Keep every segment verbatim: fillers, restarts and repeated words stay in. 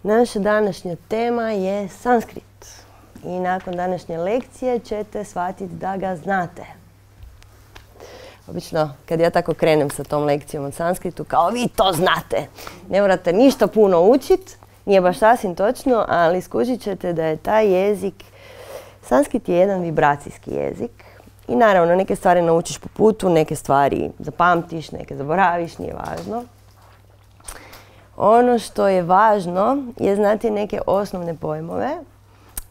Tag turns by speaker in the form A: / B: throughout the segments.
A: Naša današnja tema je sanskrit. I nakon današnje lekcije ćete shvatiti da ga znate. Obično, kad ja tako krenem sa tom lekcijom o sanskritu, kao vi to znate. Ne morate ništa puno učiti, nije baš sasvim točno, ali skužit ćete da je taj jezik, sanskrit je jedan vibracijski jezik. I naravno, neke stvari naučiš po putu, neke stvari zapamtiš, neke zaboraviš, nije važno. Ono što je važno je znati neke osnovne pojmove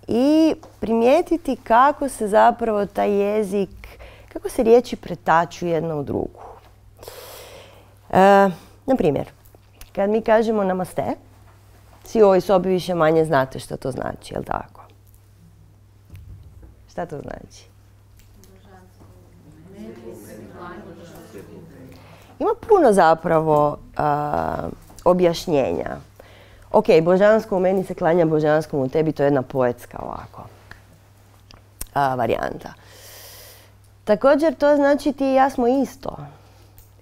A: i primijetiti kako se zapravo taj jezik, kako se riječi pretaču jedna u drugu. E, na primjer, kad mi kažemo namaste, svi u ovoj sobi više manje znate što to znači, jel' tako? Šta to znači? Ima puno zapravo a, objašnjenja. Ok, božansko u meni se klanja božanskom u tebi, to je jedna poetska ovako a, varijanta. Također to znači ti i ja smo isto.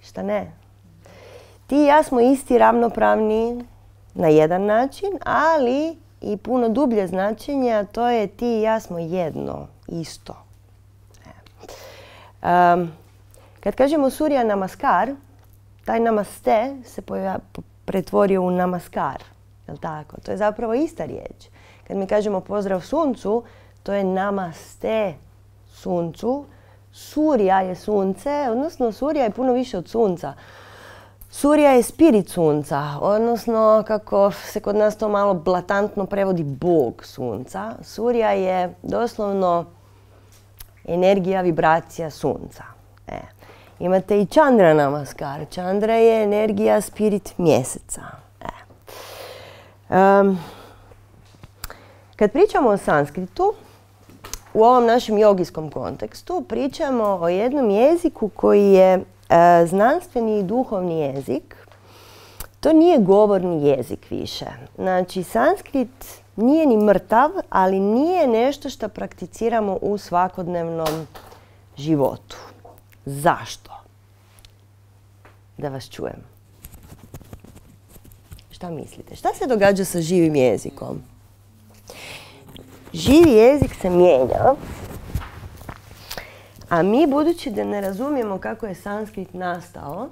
A: Šta ne? Ti i ja smo isti, ravnopravni na jedan način, ali i puno dublje značenje, a to je ti i ja smo jedno, isto. Um, kad kažemo Surya Namaskar, taj namaste se pretvorio u namaskar. Jel' tako? To je zapravo ista riječ. Kad mi kažemo pozdrav suncu, to je namaste suncu. Surya je sunce, odnosno Surya je puno više od sunca. Surya je spirit sunca, odnosno kako se kod nas to malo blatantno prevodi Bog sunca. Surya je doslovno energija, vibracija sunca. E. Imate i Chandra Namaskar. Chandra je energija, spirit mjeseca. E. Um, kad pričamo o sanskritu, u ovom našem jogijskom kontekstu pričamo o jednom jeziku koji je e, znanstveni i duhovni jezik. To nije govorni jezik više. Znači, sanskrit nije ni mrtav, ali nije nešto što prakticiramo u svakodnevnom životu. Zašto? Da vas čujem. Šta mislite? Šta se događa sa živim jezikom? Živi jezik se mijenja, a mi, budući da ne razumijemo kako je sanskrit nastao,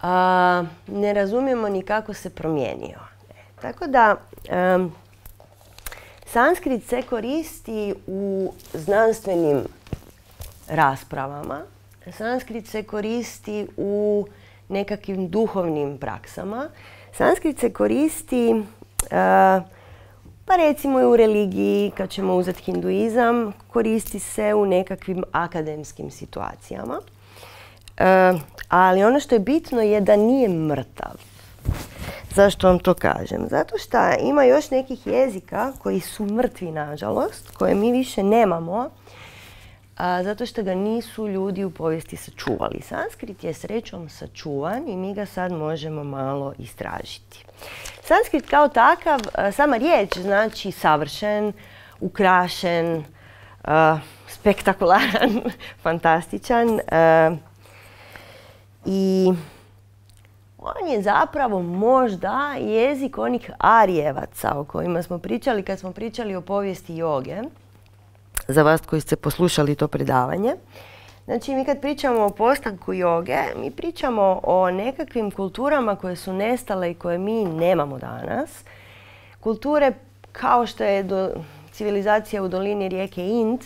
A: a, ne razumijemo ni kako se promijenio. E, tako da, um, sanskrit se koristi u znanstvenim raspravama. Sanskrit se koristi u nekakvim duhovnim praksama. Sanskrit se koristi uh, pa recimo i u religiji, kad ćemo uzeti hinduizam, koristi se u nekakvim akademskim situacijama. Uh, ali ono što je bitno je da nije mrtav. Zašto vam to kažem? Zato što ima još nekih jezika koji su mrtvi, nažalost, koje mi više nemamo, a, zato što ga nisu ljudi u povijesti sačuvali. Sanskrit je srećom sačuvan i mi ga sad možemo malo istražiti. Sanskrit kao takav, a, sama riječ znači savršen, ukrašen, a, spektakularan, fantastičan. A, I on je zapravo možda jezik onih Arijevaca o kojima smo pričali kad smo pričali o povijesti joge. Za vas koji ste poslušali to predavanje. Znači, mi kad pričamo o postanku joge, mi pričamo o nekakvim kulturama koje su nestale i koje mi nemamo danas. Kulture kao što je do, civilizacija u dolini rijeke Ind,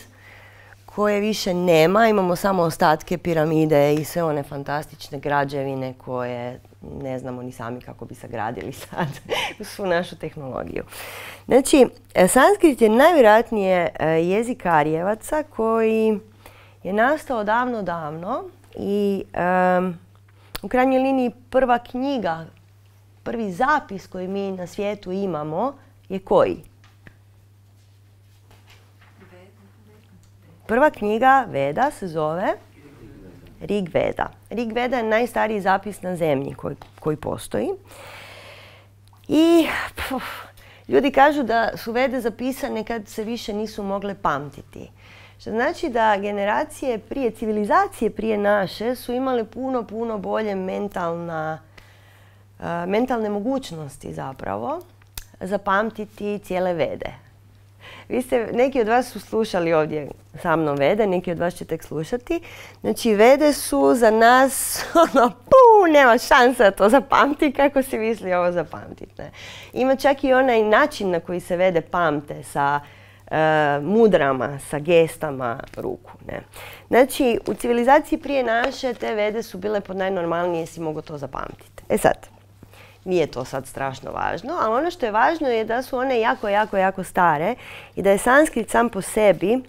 A: koje više nema, imamo samo ostatke piramide i sve one fantastične građevine koje ne znamo ni sami kako bi sagradili sad u svu našu tehnologiju. Znači, sanskrit je najvjerojatnije jezik Arijevaca koji je nastao davno, davno i um, u krajnjoj liniji prva knjiga, prvi zapis koji mi na svijetu imamo je koji? Prva knjiga Veda se zove Rig Veda. Rig Veda je najstariji zapis na zemlji koji, koji postoji. I puf, ljudi kažu da su Vede zapisane kad se više nisu mogle pamtiti. Što znači da generacije prije, civilizacije prije naše su imale puno, puno bolje mentalna, uh, mentalne mogućnosti zapravo zapamtiti cijele Vede. Vi ste, neki od vas su slušali ovdje sa mnom Vede, neki od vas će tek slušati. Znači, Vede su za nas, ono, puu, nema šanse da to zapamti, kako si misli ovo zapamtiti. Ne? Ima čak i onaj način na koji se Vede pamte sa uh, mudrama, sa gestama ruku. Ne? Znači, u civilizaciji prije naše te Vede su bile pod najnormalnije, si mogo to zapamtiti. E sad, nije to sad strašno važno, ali ono što je važno je da su one jako, jako, jako stare i da je sanskrit sam po sebi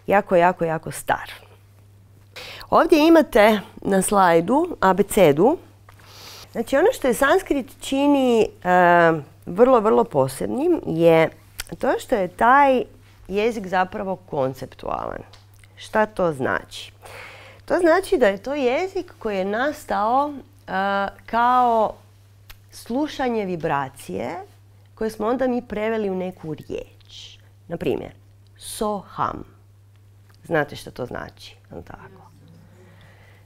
A: jako, jako, jako star. Ovdje imate na slajdu abecedu. Znači, ono što je sanskrit čini e, vrlo, vrlo posebnim je to što je taj jezik zapravo konceptualan. Šta to znači? To znači da je to jezik koji je nastao e, kao slušanje vibracije koje smo onda mi preveli u neku riječ. Na primjer, soham. Znate što to znači? Tako.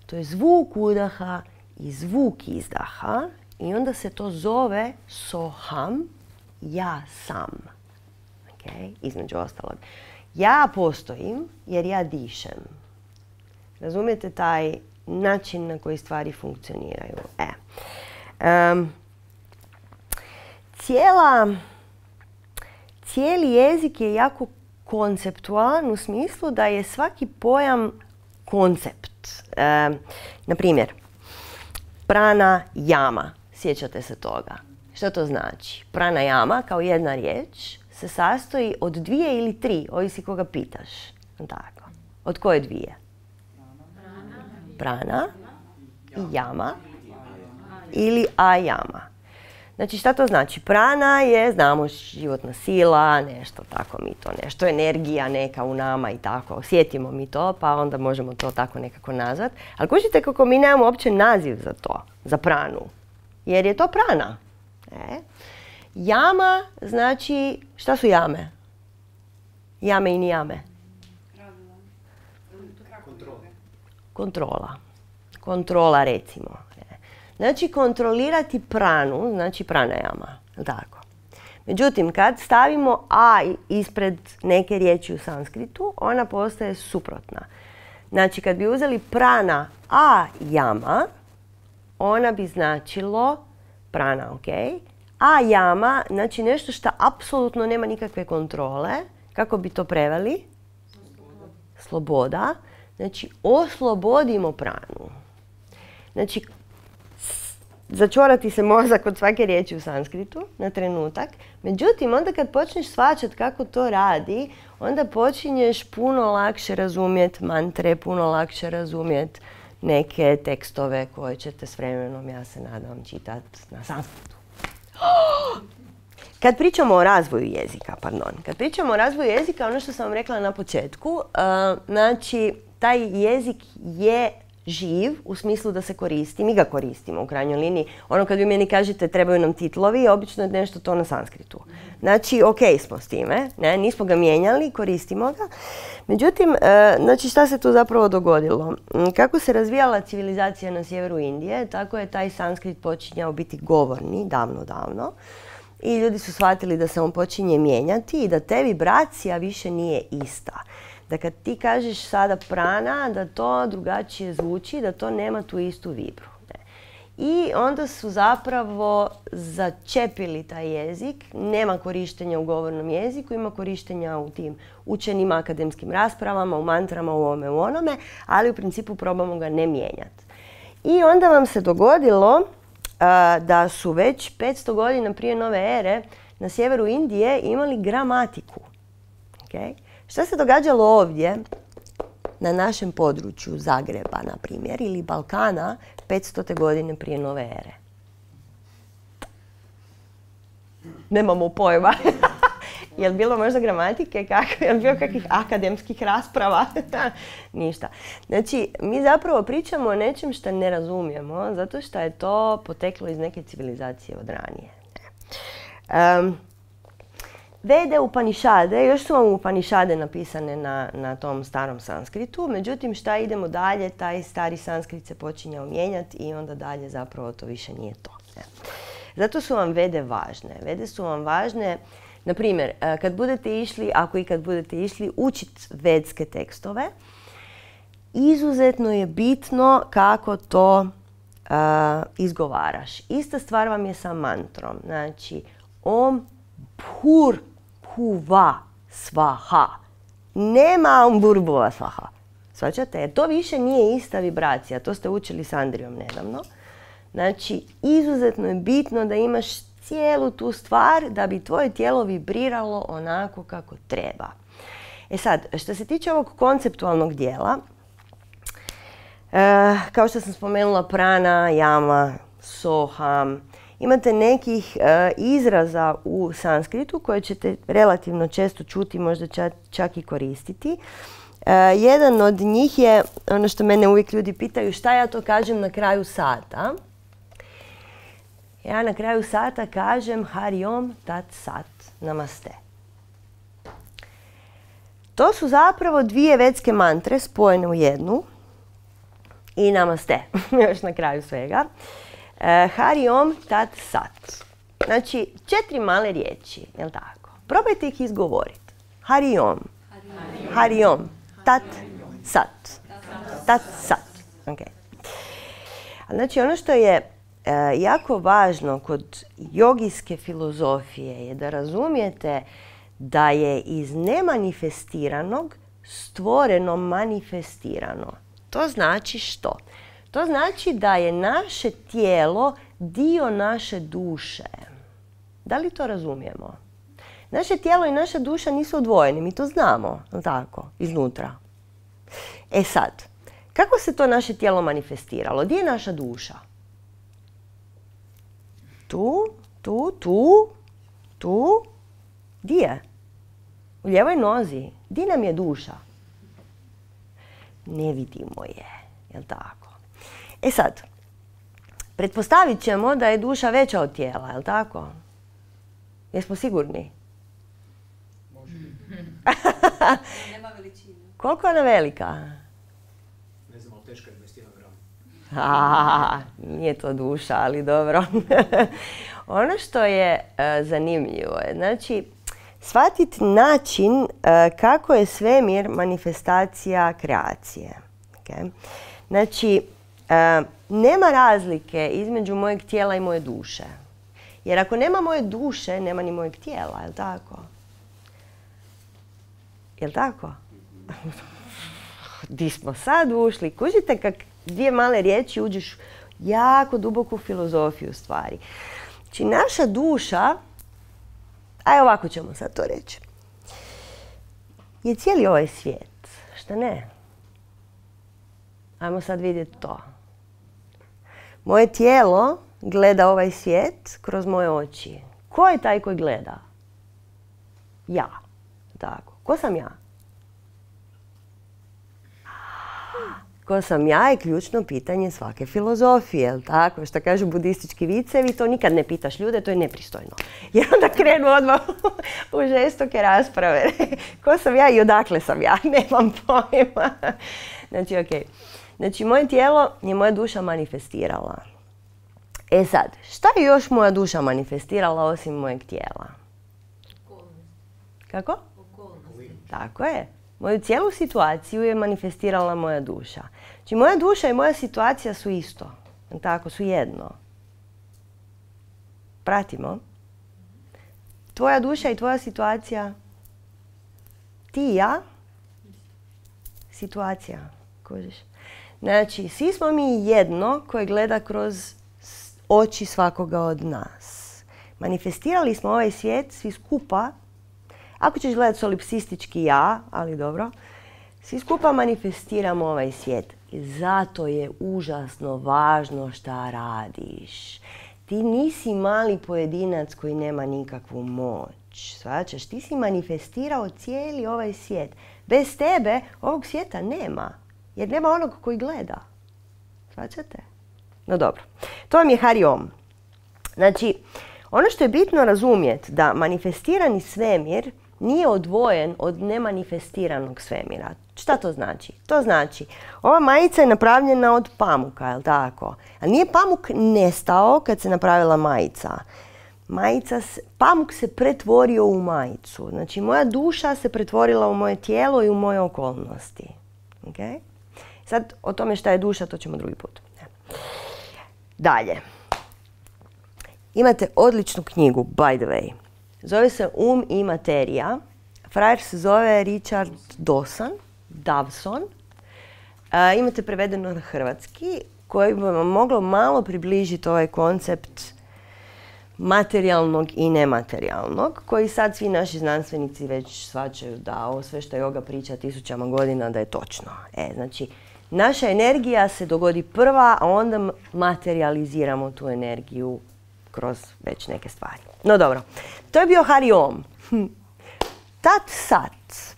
A: To je zvuk udaha i zvuk izdaha i onda se to zove soham, ja sam. Okay? Između ostalog. Ja postojim jer ja dišem. Razumijete taj način na koji stvari funkcioniraju? E. Um, Cijela, cijeli jezik je jako konceptualan u smislu da je svaki pojam koncept. E, na primjer, prana jama. Sjećate se toga. Što to znači? Prana jama kao jedna riječ se sastoji od dvije ili tri, ovisi koga pitaš. Tako. Od koje dvije? Prana i jama ili ajama. Znači, šta to znači? Prana je, znamo, životna sila, nešto tako mi to, nešto energija neka u nama i tako. Osjetimo mi to, pa onda možemo to tako nekako nazvat. Ali kužite kako mi nemamo uopće naziv za to, za pranu. Jer je to prana. E. Jama znači, šta su jame? Jame i nijame? Kontrola. Kontrola, recimo. Znači, kontrolirati pranu, znači pranajama, tako. Međutim, kad stavimo a ispred neke riječi u sanskritu, ona postaje suprotna. Znači, kad bi uzeli prana a jama, ona bi značilo prana, ok? A jama, znači nešto što apsolutno nema nikakve kontrole. Kako bi to preveli? Sloboda. Znači, oslobodimo pranu. Znači, začorati se mozak od svake riječi u sanskritu na trenutak. Međutim, onda kad počneš shvaćati kako to radi, onda počinješ puno lakše razumjeti mantre, puno lakše razumjeti neke tekstove koje ćete s vremenom, ja se nadam, čitati na sanskritu. Kad pričamo o razvoju jezika, pardon, kad pričamo o razvoju jezika, ono što sam vam rekla na početku, uh, znači, taj jezik je živ u smislu da se koristi, mi ga koristimo u krajnjoj liniji. Ono kad vi meni kažete trebaju nam titlovi, obično je nešto to na sanskritu. Znači, ok smo s time, ne, nismo ga mijenjali, koristimo ga. Međutim, e, znači šta se tu zapravo dogodilo? Kako se razvijala civilizacija na sjeveru Indije, tako je taj sanskrit počinjao biti govorni, davno, davno. I ljudi su shvatili da se on počinje mijenjati i da te vibracija više nije ista. Da kad ti kažeš sada prana, da to drugačije zvuči, da to nema tu istu vibru. Ne. I onda su zapravo začepili taj jezik. Nema korištenja u govornom jeziku, ima korištenja u tim učenim akademskim raspravama, u mantrama, u ovome, u onome, ali u principu probamo ga ne mijenjati. I onda vam se dogodilo a, da su već petsto godina prije nove ere na sjeveru Indije imali gramatiku. Okay? Šta se događalo ovdje, na našem području Zagreba, na primjer, ili Balkana, petstote godine prije nove ere? Nemamo pojma. Je li bilo možda gramatike? Kako? Je li bilo kakvih akademskih rasprava? Ništa. Znači, mi zapravo pričamo o nečem što ne razumijemo, zato što je to poteklo iz neke civilizacije od ranije. Um, Vede, Upanišade, još su vam Upanišade napisane na, na tom starom sanskritu, međutim šta idemo dalje, taj stari sanskrit se počinjao mijenjati i onda dalje zapravo to više nije to. Ne. Zato su vam vede važne. Vede su vam važne, na primjer, kad budete išli, ako i kad budete išli, učiti vedske tekstove, izuzetno je bitno kako to uh, izgovaraš. Ista stvar vam je sa mantrom. Znači, om pur puva svaha. Nema om burbuva svaha. Svačate? Jer to više nije ista vibracija. To ste učili s Andrijom nedavno. Znači, izuzetno je bitno da imaš cijelu tu stvar da bi tvoje tijelo vibriralo onako kako treba. E sad, što se tiče ovog konceptualnog dijela, e, kao što sam spomenula prana, jama, soha, imate nekih e, izraza u sanskritu koje ćete relativno često čuti, možda čak, čak i koristiti. E, jedan od njih je, ono što mene uvijek ljudi pitaju, šta ja to kažem na kraju sata. Ja na kraju sata kažem Hari Om Tat Sat Namaste. To su zapravo dvije vedske mantre spojene u jednu i Namaste, još na kraju svega. E, Hari Om Tat Sat. Znači, četiri male riječi, jel tako? Probajte ih izgovoriti. Hari Om. Hari Om. Tat Sat. Tat Sat. Okay. Znači, ono što je e, jako važno kod jogijske filozofije je da razumijete da je iz nemanifestiranog stvoreno manifestirano. To znači što? To znači da je naše tijelo dio naše duše. Da li to razumijemo? Naše tijelo i naša duša nisu odvojeni, mi to znamo, tako, iznutra. E sad, kako se to naše tijelo manifestiralo? Gdje je naša duša? Tu, tu, tu, tu. Gdje je? U lijevoj nozi. Gdje nam je duša? Ne vidimo je, jel tako? E sad, pretpostavit ćemo da je duša veća od tijela, jel tako? Jesmo sigurni?
B: Može. Nema veličine.
A: Koliko je ona velika?
B: Ne znam, ali teška je dvadeset jedan gram.
A: A, nije to duša, ali dobro. Ono što je uh, zanimljivo je, znači, shvatiti način uh, kako je svemir manifestacija kreacije. Okay? Znači, uh, nema razlike između mojeg tijela i moje duše. Jer ako nema moje duše, nema ni mojeg tijela, jel tako? Jel tako? Di smo sad ušli? Kužite kak dvije male riječi uđeš jako duboku filozofiju stvari. Znači, naša duša, aj ovako ćemo sad to reći, je cijeli ovaj svijet. Šta ne? Ajmo sad vidjeti to. Moje tijelo gleda ovaj svijet kroz moje oči. Ko je taj koji gleda? Ja. Tako. Ko sam ja? Ko sam ja je ključno pitanje svake filozofije, jel tako? Što kažu budistički vicevi, to nikad ne pitaš ljude, to je nepristojno. Jer onda krenu odmah u žestoke rasprave. Ko sam ja i odakle sam ja? Nemam pojma. Znači, ok. Znači, moje tijelo je moja duša manifestirala. E sad, šta je još moja duša manifestirala osim mojeg tijela?
B: Okolnosti.
A: Kako?
B: Okolnosti.
A: Tako je. Moju cijelu situaciju je manifestirala moja duša. Znači, moja duša i moja situacija su isto. Tako, su jedno. Pratimo. Tvoja duša i tvoja situacija. Ti i ja. Situacija. Kužiš? Znači, svi smo mi jedno koje gleda kroz oči svakoga od nas. Manifestirali smo ovaj svijet svi skupa. Ako ćeš gledati solipsistički ja, ali dobro, svi skupa manifestiramo ovaj svijet. I zato je užasno važno šta radiš. Ti nisi mali pojedinac koji nema nikakvu moć. Shvaćaš? Ti si manifestirao cijeli ovaj svijet. Bez tebe ovog svijeta nema. Jer nema onog koji gleda. Shvaćate? No dobro. To vam je Hari Om. Znači, ono što je bitno razumjeti da manifestirani svemir nije odvojen od nemanifestiranog svemira. Šta to znači? To znači, ova majica je napravljena od pamuka, je li tako? A nije pamuk nestao kad se napravila majica. Majica, pamuk se pretvorio u majicu. Znači, moja duša se pretvorila u moje tijelo i u moje okolnosti. Okay? Sad, o tome šta je duša, to ćemo drugi put. Dalje. Imate odličnu knjigu, by the way. Zove se Um i materija. Frajer se zove Richard Dawson. Dawson. E, imate prevedeno na hrvatski, koji bi vam moglo malo približiti ovaj koncept materijalnog i nematerijalnog, koji sad svi naši znanstvenici već shvaćaju da ovo sve što yoga priča tisućama godina da je točno. E, znači, naša energija se dogodi prva, a onda materializiramo tu energiju kroz već neke stvari. No dobro, to je bio Hari Om. Tat sat.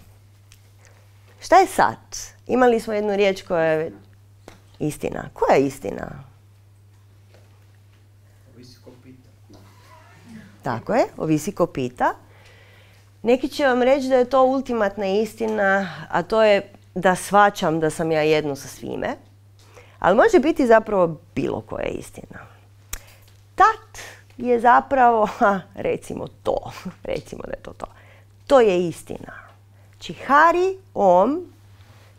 A: Šta je sat? Imali smo jednu riječ koja je istina. Koja je istina?
B: Ovisi ko pita.
A: Tako je, ovisi ko pita. Neki će vam reći da je to ultimatna istina, a to je da shvaćam da sam ja jedno sa svime. Ali može biti zapravo bilo koja istina. Tat je zapravo, ha, recimo to, recimo da je to to. To je istina. Znači Hari Om,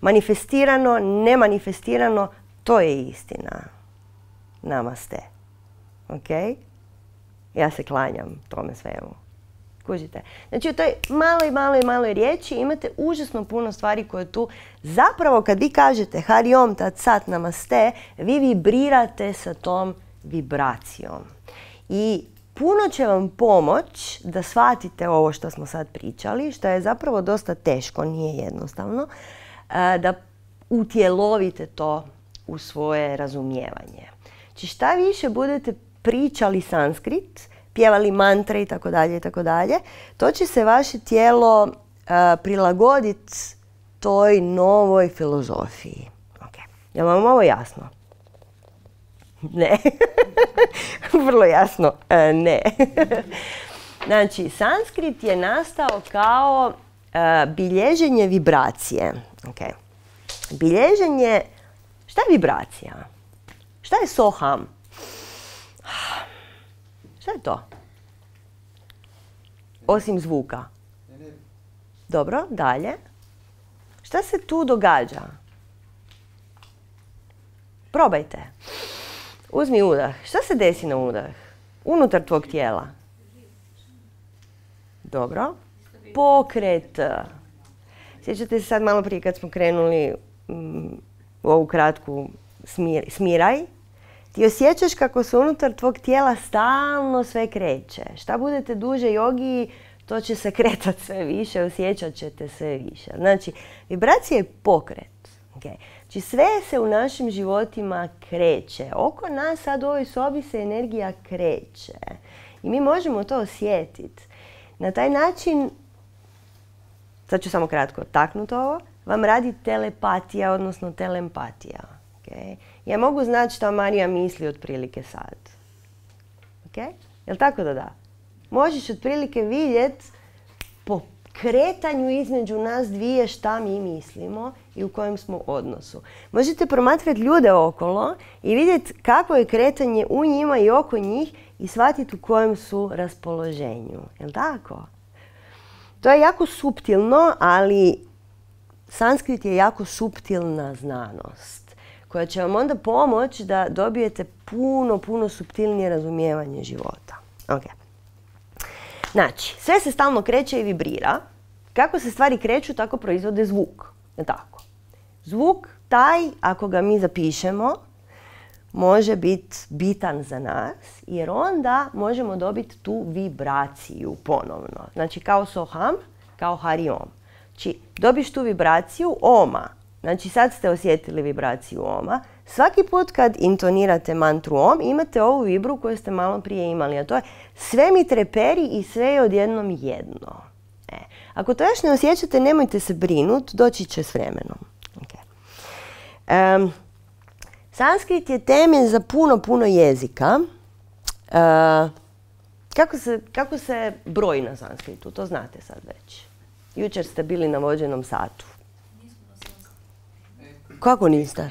A: manifestirano, nemanifestirano, to je istina. Namaste. Ok? Ja se klanjam tome svemu. Kužite? Znači u toj maloj, maloj, maloj riječi imate užasno puno stvari koje tu zapravo kad vi kažete Hari Om, Tat Sat, Namaste, vi vibrirate sa tom vibracijom. I puno će vam pomoć da shvatite ovo što smo sad pričali, što je zapravo dosta teško, nije jednostavno, da utjelovite to u svoje razumijevanje. Znači šta više budete pričali sanskrit, pjevali mantre i tako dalje i tako dalje, to će se vaše tijelo uh, prilagoditi toj novoj filozofiji. Okay. Je li vam ovo jasno? Ne. Vrlo jasno, uh, ne. Znači, sanskrit je nastao kao uh, bilježenje vibracije. Okay. Bilježenje, šta je vibracija? Šta je soham? Šta je to? Osim zvuka. Dobro, dalje. Šta se tu događa? Probajte. Uzmi udah. Šta se desi na udah? Unutar tvog tijela. Dobro. Pokret. Sjećate se sad malo prije kad smo krenuli um, u ovu kratku smir, smiraj? Ti osjećaš kako se unutar tvog tijela stalno sve kreće. Šta budete duže jogi, to će se kretati sve više, osjećat ćete sve više. Znači, vibracija je pokret. Okay. Znači, sve se u našim životima kreće. Oko nas sad u ovoj sobi se energija kreće. I mi možemo to osjetiti. Na taj način, sad ću samo kratko taknuti ovo, vam radi telepatija, odnosno telempatija. Okay. Ja mogu znati šta Marija misli otprilike sad. Okay? Jel' tako da da? Možeš otprilike vidjeti po kretanju između nas dvije šta mi mislimo i u kojem smo odnosu. Možete promatrati ljude okolo i vidjeti kako je kretanje u njima i oko njih i shvatiti u kojem su raspoloženju. Jel' tako? To je jako suptilno, ali sanskrit je jako suptilna znanost koja će vam onda pomoći da dobijete puno, puno suptilnije razumijevanje života. Okay. Znači, sve se stalno kreće i vibrira. Kako se stvari kreću, tako proizvode zvuk. Je tako? Zvuk, taj, ako ga mi zapišemo, može biti bitan za nas, jer onda možemo dobiti tu vibraciju ponovno. Znači, kao soham, kao Hari Om. Znači, dobiš tu vibraciju oma. Znači, sad ste osjetili vibraciju oma. Svaki put kad intonirate mantru om, imate ovu vibru koju ste malo prije imali, a to je sve mi treperi i sve je odjednom jedno. E. Ako to još ne osjećate, nemojte se brinuti, doći će s vremenom. Okay. Um, sanskrit je temelj za puno, puno jezika. Uh, kako, se, kako se broji na sanskritu? To znate sad već. Jučer ste bili na vođenom satu. Kako niste?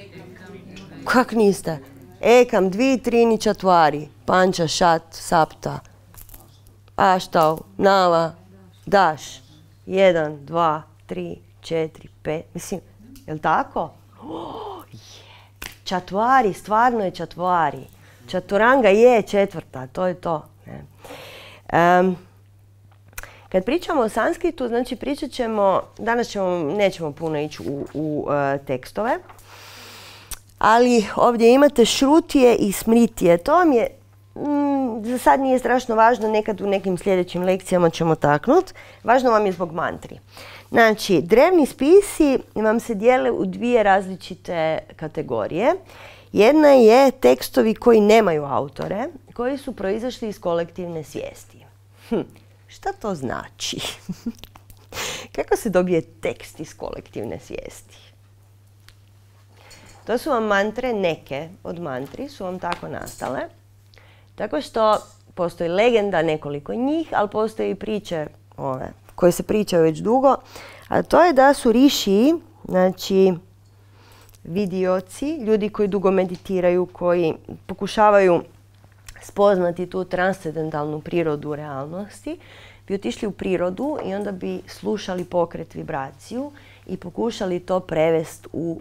A: Kak niste? Ekam, dvi, trini, čatvari. Panča, šat, sapta. Aštav, nava, daš. Jedan, dva, tri, četiri, pet. Mislim, je li tako? Oh, je. Čatvari, stvarno je čatvari. Čaturanga je četvrta, to je to. Ne? Um, kad pričamo o sanskritu, znači pričat ćemo, danas ćemo, nećemo puno ići u, u uh, tekstove, ali ovdje imate šrutije i smritije. To vam je, mm, za sad nije strašno važno, nekad u nekim sljedećim lekcijama ćemo taknuti. Važno vam je zbog mantri. Znači, drevni spisi vam se dijele u dvije različite kategorije. Jedna je tekstovi koji nemaju autore, koji su proizašli iz kolektivne svijesti. Hm, šta to znači? Kako se dobije tekst iz kolektivne svijesti? To su vam mantre, neke od mantri su vam tako nastale. Tako što postoji legenda, nekoliko njih, ali postoji i priče ove, koje se pričaju već dugo. A to je da su rišiji, znači vidioci, ljudi koji dugo meditiraju, koji pokušavaju spoznati tu transcendentalnu prirodu realnosti, bi otišli u prirodu i onda bi slušali pokret, vibraciju i pokušali to prevesti u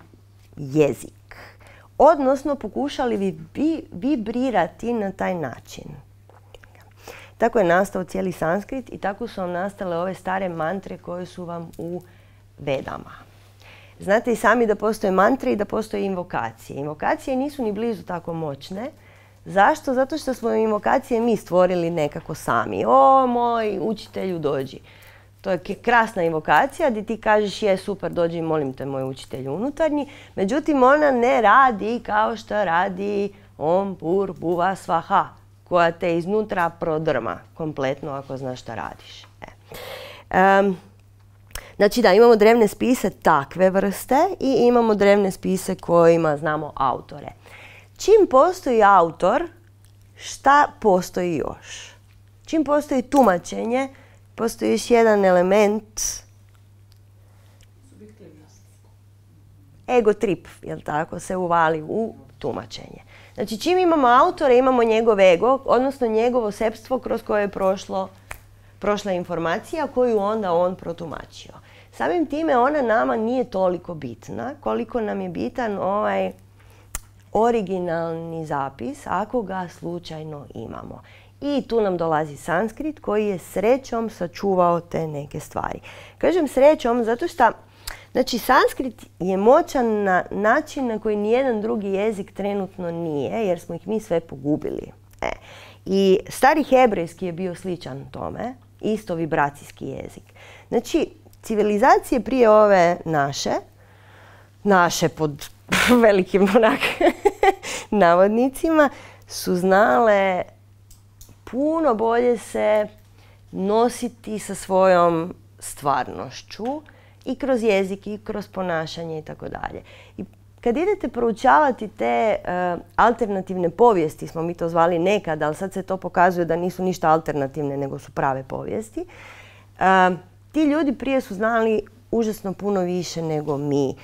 A: jezik. Odnosno pokušali bi vibrirati na taj način. Tako je nastao cijeli sanskrit i tako su vam nastale ove stare mantre koje su vam u Vedama. Znate i sami da postoje mantre i da postoje invokacije. Invokacije nisu ni blizu tako moćne. Zašto? Zato što smo invokacije mi stvorili nekako sami. O, moj učitelju, dođi. To je krasna invokacija gdje ti kažeš je super, dođi, molim te, moj učitelju unutarnji. Međutim, ona ne radi kao što radi Om Pur Bhuva Svaha, koja te iznutra prodrma kompletno ako znaš šta radiš. E. Um, znači da, imamo drevne spise takve vrste i imamo drevne spise kojima znamo autore. Čim postoji autor, šta postoji još? Čim postoji tumačenje, postoji još jedan element, ego trip, jel tako, se uvali u tumačenje. Znači čim imamo autore, imamo njegov ego, odnosno njegovo sepstvo kroz koje je prošlo, prošla informacija koju onda on protumačio. Samim time ona nama nije toliko bitna koliko nam je bitan ovaj originalni zapis ako ga slučajno imamo. I tu nam dolazi sanskrit koji je srećom sačuvao te neke stvari. Kažem srećom zato što znači, sanskrit je moćan na način na koji nijedan drugi jezik trenutno nije, jer smo ih mi sve pogubili. E. I stari hebrejski je bio sličan tome, isto vibracijski jezik. Znači, civilizacije prije ove naše, naše pod velikim onak navodnicima, su znale puno bolje se nositi sa svojom stvarnošću i kroz jezik i kroz ponašanje i tako dalje. I kad idete proučavati te uh, alternativne povijesti, smo mi to zvali nekad, ali sad se to pokazuje da nisu ništa alternativne, nego su prave povijesti, uh, ti ljudi prije su znali užasno puno više nego mi.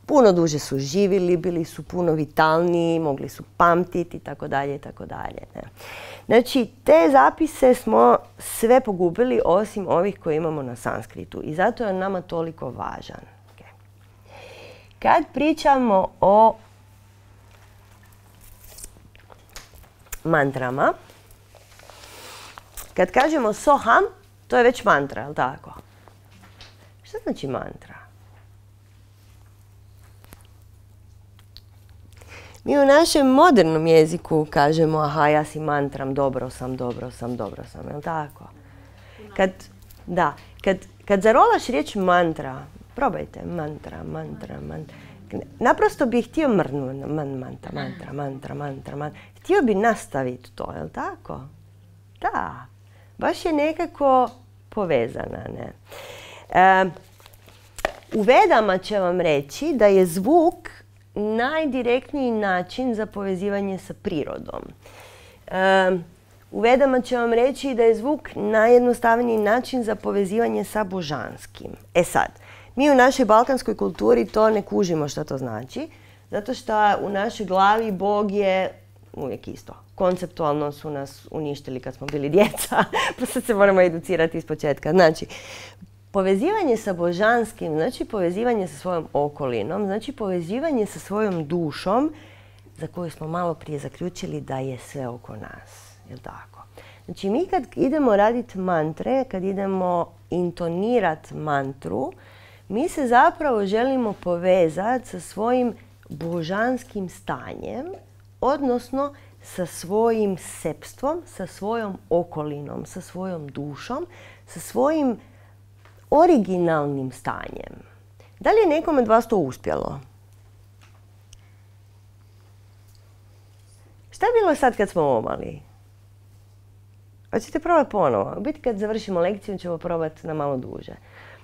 A: Puno duže su živjeli, bili su puno vitalniji, mogli su pamtiti i tako dalje i tako dalje. Znači, te zapise smo sve pogubili osim ovih koje imamo na sanskritu i zato je on nama toliko važan. Okay. Kad pričamo o mantrama, kad kažemo soham, to je već mantra, je li tako? Šta znači mantra? Mi u našem modernom jeziku kažemo aha, ja si mantram, dobro sam, dobro sam, dobro sam, je li tako? Kad, da, kad, kad zarolaš riječ mantra, probajte, mantra, mantra, mantra. Naprosto bih htio mrnuti, man, mantra, mantra, mantra, mantra, mantra. Htio bi nastaviti to, je li tako? Da, baš je nekako povezana, ne? E, u Vedama će vam reći da je zvuk najdirektniji način za povezivanje sa prirodom. E, u Vedama će vam reći da je zvuk najjednostavniji način za povezivanje sa božanskim. E sad, mi u našoj balkanskoj kulturi to ne kužimo što to znači, zato što u našoj glavi Bog je uvijek isto. Konceptualno su nas uništili kad smo bili djeca, pa sad se moramo educirati iz početka. Znači, povezivanje sa božanskim, znači povezivanje sa svojom okolinom, znači povezivanje sa svojom dušom, za koju smo malo prije zaključili da je sve oko nas. Jel' tako? Znači, mi kad idemo raditi mantre, kad idemo intonirati mantru, mi se zapravo želimo povezati sa svojim božanskim stanjem, odnosno sa svojim sepstvom, sa svojom okolinom, sa svojom dušom, sa svojim originalnim stanjem. Da li je nekom od vas to uspjelo? Šta je bilo sad kad smo omali? Hoćete probati ponovo? U biti kad završimo lekciju ćemo probati na malo duže.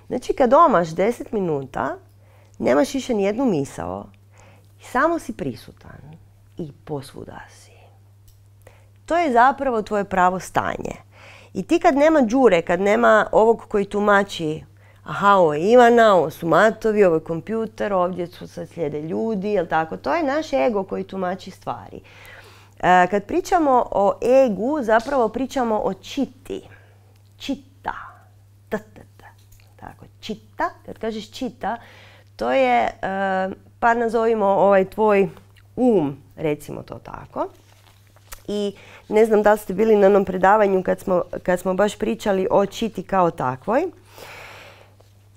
A: Znači kad omaš deset minuta, nemaš više nijednu misao, samo si prisutan i posvuda si. To je zapravo tvoje pravo stanje. I ti kad nema đure, kad nema ovog koji tumači, aha, ovo je Ivana, ovo su matovi, ovo je kompjuter, ovdje su sad slijede ljudi, jel' tako? To je naš ego koji tumači stvari. E, kad pričamo o egu, zapravo pričamo o čiti. Čita. T, t, t. Tako, čita. Kad kažeš čita, to je, e, pa nazovimo ovaj tvoj um, recimo to tako. I ne znam da li ste bili na onom predavanju kad smo, kad smo baš pričali o čiti kao takvoj.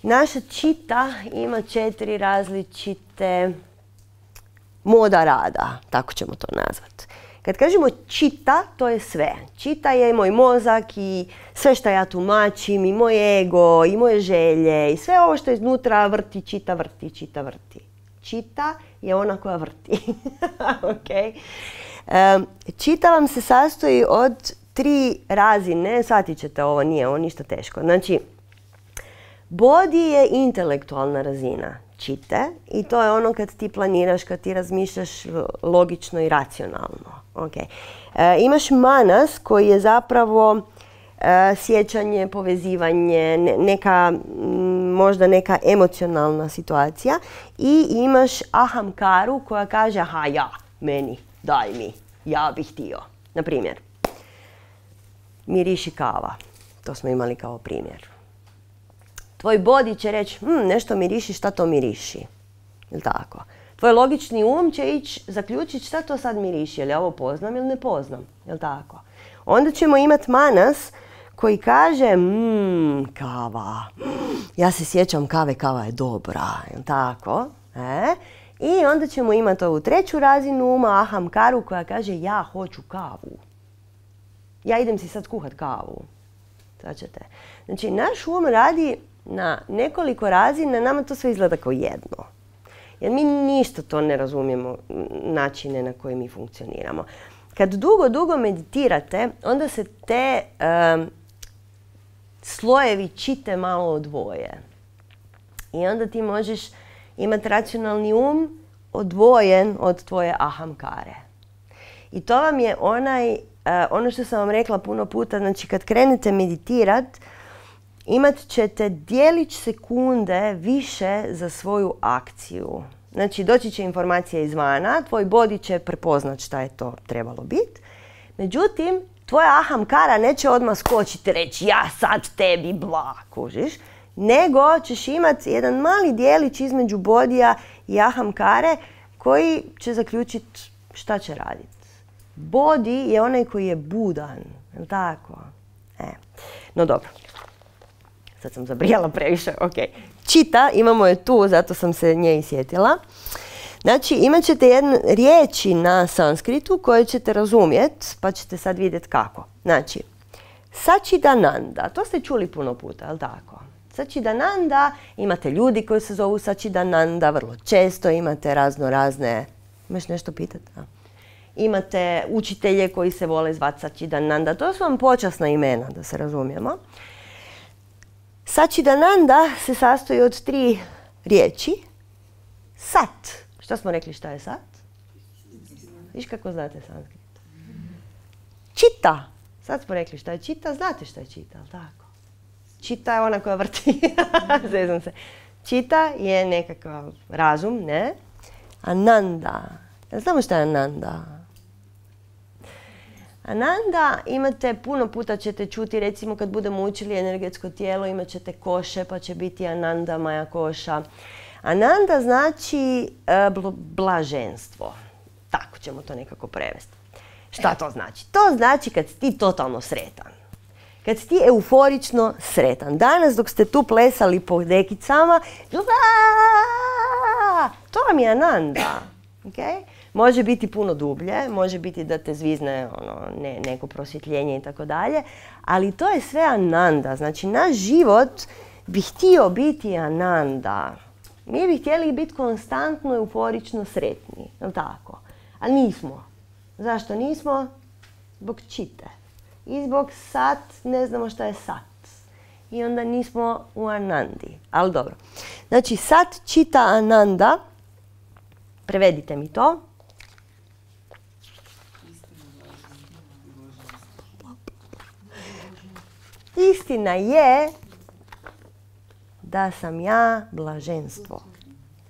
A: Naša čita ima četiri različite moda rada, tako ćemo to nazvati. Kad kažemo čita, to je sve. Čita je i moj mozak i sve što ja tumačim, i moj ego, i moje želje, i sve ovo što iznutra vrti, čita, vrti, čita, vrti. Čita je ona koja vrti. Okay. Um, čita vam se sastoji od tri razine, shvatit ćete ovo, nije ovo ništa teško. Znači, body je intelektualna razina čite i to je ono kad ti planiraš, kad ti razmišljaš logično i racionalno. Okay. E, imaš manas koji je zapravo e, sjećanje, povezivanje, ne, neka, m, možda neka emocionalna situacija i imaš ahamkaru koja kaže aha ja, meni, daj mi, ja bih htio. Na primjer, miriši kava, to smo imali kao primjer. Tvoj body će reći, hm, nešto miriši, šta to miriši? Jel' tako? Tvoj logični um će ići zaključiti šta to sad miriši, jel' ja ovo poznam ili ne poznam, jel' tako? Onda ćemo imati manas koji kaže, mmm, kava, ja se sjećam kave, kava je dobra, jel' tako? E? I onda ćemo imati ovu treću razinu uma, ahamkaru, koja kaže, ja hoću kavu. Ja idem si sad kuhat kavu. Svačate? Znači, naš um radi na nekoliko razina, nama to sve izgleda kao jedno. Jer mi ništa to ne razumijemo, načine na koje mi funkcioniramo. Kad dugo, dugo meditirate, onda se te um, slojevi čite malo odvoje. I onda ti možeš imati racionalni um odvojen od tvoje ahamkare. I to vam je onaj, uh, ono što sam vam rekla puno puta, znači kad krenete meditirat, imat ćete dijelić sekunde više za svoju akciju. Znači, doći će informacija izvana, tvoj body će prepoznat šta je to trebalo biti. Međutim, tvoja ahamkara neće odmah skočiti i reći ja sad tebi bla, kužiš. Nego ćeš imati jedan mali dijelić između bodija i ahamkare koji će zaključiti šta će raditi. Body je onaj koji je budan, je li tako? E. No dobro. Sad sam zabrijala previše, ok. Čita, imamo je tu, zato sam se nje i sjetila. Znači, imat ćete jedne riječi na sanskritu koje ćete razumjeti, pa ćete sad vidjeti kako. Znači, Sačidananda, to ste čuli puno puta, je li tako? Sačidananda, imate ljudi koji se zovu Sačidananda, vrlo često imate razno razne... Imaš nešto pitati? A? Imate učitelje koji se vole zvati Sačidananda, to su vam počasna imena, da se razumijemo. Sačidananda se sastoji od tri riječi. Sat. Šta smo rekli šta je sat? Viš kako znate sanskrit? Čita. Sad smo rekli šta je čita, znate šta je čita, ali tako? Čita je ona koja vrti. Zezam se. Čita je nekakav razum, ne? Ananda. Znamo šta je Ananda? Ananda imate, puno puta ćete čuti, recimo kad budemo učili energetsko tijelo, imat ćete koše, pa će biti Ananda, Maja koša. Ananda znači e, blaženstvo. Tako ćemo to nekako prevesti. Šta to znači? To znači kad si ti totalno sretan. Kad si ti euforično sretan. Danas dok ste tu plesali po dekicama, to vam je Ananda. Okay? Može biti puno dublje, može biti da te zvizne ono, ne, neko prosvjetljenje i tako dalje, ali to je sve Ananda. Znači, naš život bi htio biti Ananda. Mi bi htjeli biti konstantno euforično sretni, je li tako? Ali nismo. Zašto nismo? Zbog čite. I zbog sat, ne znamo šta je sat. I onda nismo u Anandi. Ali dobro. Znači, sat čita Ananda. Prevedite mi to. Istina je da sam ja blaženstvo.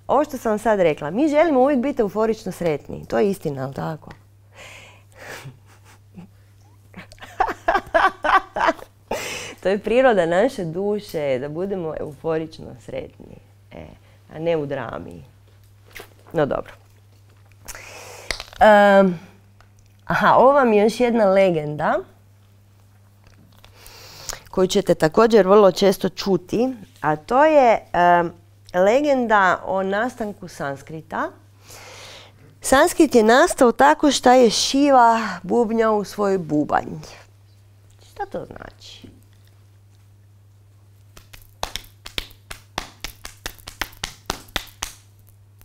A: Ovo što sam vam sad rekla, mi želimo uvijek biti euforično sretni. To je istina, ali tako? To je priroda naše duše, da budemo euforično sretni, e, a ne u drami. No dobro. Um, aha, ovo vam je još jedna legenda koju ćete također vrlo često čuti, a to je um, legenda o nastanku sanskrita. Sanskrit je nastao tako što je Šiva bubnjao u svoj bubanj. Šta to znači?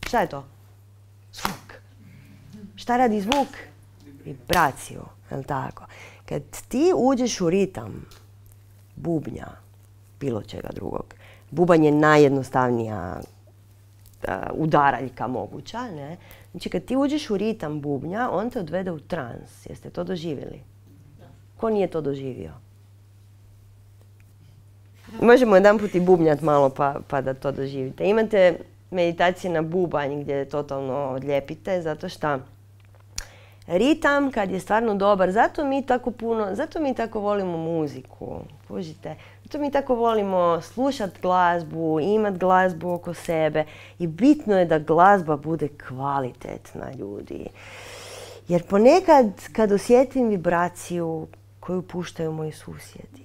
A: Šta je to? Zvuk. Šta radi zvuk? Vibraciju, je li tako? Kad ti uđeš u ritam bubnja, bilo čega drugog, bubanj je najjednostavnija uh, udaraljka moguća, ne? Znači kad ti uđeš u ritam bubnja, on te odvede u trans. Jeste to doživjeli? Ko nije to doživio? Možemo jedan put i bubnjat malo pa, pa da to doživite. Imate meditacije na bubanj gdje totalno odljepite, zato što ritam kad je stvarno dobar, zato mi tako puno, zato mi tako volimo muziku, kužite, zato mi tako volimo slušati glazbu, imati glazbu oko sebe i bitno je da glazba bude kvalitetna, ljudi. Jer ponekad kad osjetim vibraciju koju puštaju moji susjedi,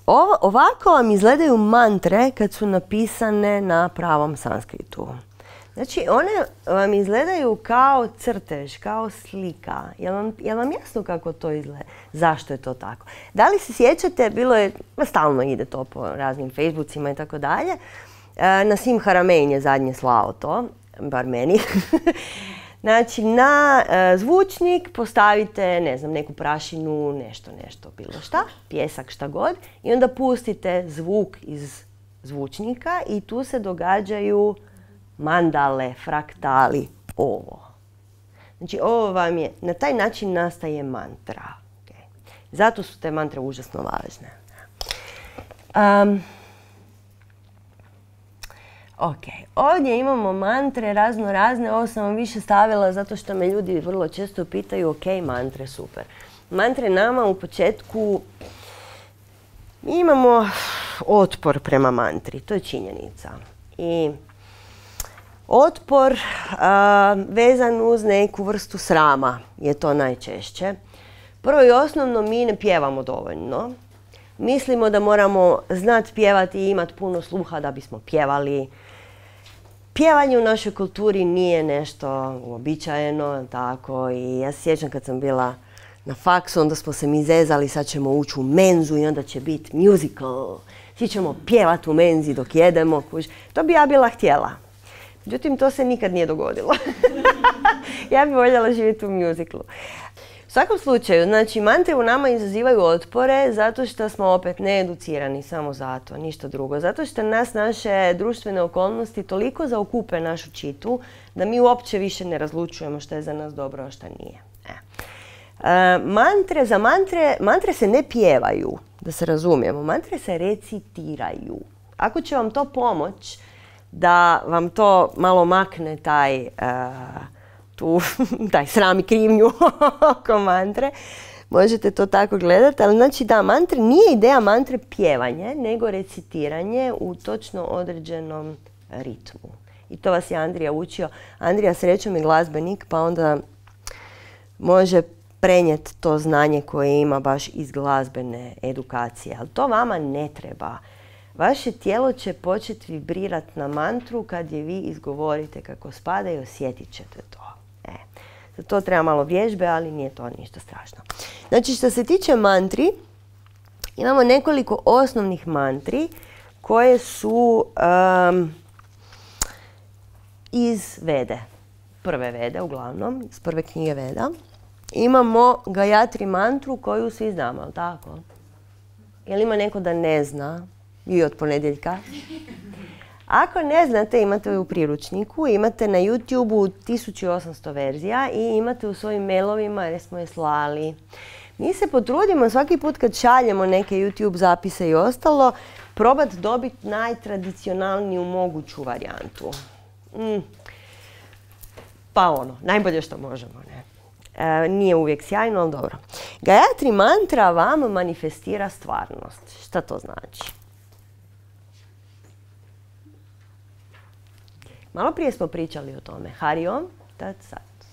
A: Ovo, ovako vam izgledaju mantre kad su napisane na pravom sanskritu. Znači, one vam izgledaju kao crtež, kao slika. Jel vam, jel vam jasno kako to izgleda? Zašto je to tako? Da li se sjećate, bilo je, stalno ide to po raznim Facebookima i tako dalje, Nasim Haramein je zadnje slao to, bar meni. Znači, na e, zvučnik postavite, ne znam, neku prašinu, nešto, nešto, bilo šta, pjesak, šta god, i onda pustite zvuk iz zvučnika i tu se događaju mandale, fraktali, ovo. Znači, ovo vam je, na taj način nastaje mantra. Okay. Zato su te mantre užasno važne. Um, Ok, ovdje imamo mantre razno razne, ovo sam vam više stavila zato što me ljudi vrlo često pitaju, ok, mantre, super. Mantre nama u početku, mi imamo otpor prema mantri, to je činjenica. I otpor a, vezan uz neku vrstu srama je to najčešće. Prvo i osnovno, mi ne pjevamo dovoljno. Mislimo da moramo znati pjevati i imati puno sluha da bismo pjevali. Pjevanje u našoj kulturi nije nešto uobičajeno, tako, i ja se sjećam kad sam bila na faksu, onda smo se mi zezali, sad ćemo ući u menzu i onda će biti musical. Svi ćemo pjevati u menzi dok jedemo. To bi ja bila htjela. Međutim, to se nikad nije dogodilo. Ja bi voljela živjeti u musiclu. U svakom slučaju, znači mantre u nama izazivaju otpore zato što smo opet needucirani, samo zato, ništa drugo. Zato što nas naše društvene okolnosti toliko zaokupe našu čitu da mi uopće više ne razlučujemo što je za nas dobro, a što nije. E. E, mantre, za mantre, mantre se ne pjevaju, da se razumijemo, mantre se recitiraju. Ako će vam to pomoć da vam to malo makne taj... Uh, tu, taj sram i krivnju oko mantre, možete to tako gledati, ali znači da, mantre, nije ideja mantre pjevanje, nego recitiranje u točno određenom ritmu. I to vas je Andrija učio. Andrija srećom je glazbenik, pa onda može prenijeti to znanje koje ima baš iz glazbene edukacije, ali to vama ne treba. Vaše tijelo će početi vibrirati na mantru kad je vi izgovorite kako spada i osjetit ćete to. E, za to treba malo vježbe, ali nije to ništa strašno. Znači, što se tiče mantri, imamo nekoliko osnovnih mantri koje su um, iz Vede. Prve Vede, uglavnom, iz prve knjige Veda. Imamo Gayatri mantru koju svi znamo, ali tako? Jel ima neko da ne zna? I od ponedjeljka. Ako ne znate, imate u priručniku, imate na YouTube-u tisuću osamsto verzija i imate u svojim mailovima jer smo je slali. Mi se potrudimo svaki put kad šaljemo neke YouTube zapise i ostalo, probati dobiti najtradicionalniju moguću varijantu. Mm. Pa ono, najbolje što možemo, ne? E, nije uvijek sjajno, ali dobro. Gayatri mantra vam manifestira stvarnost. Šta to znači? Malo prije smo pričali o tome. Hari Om, Tat Sat.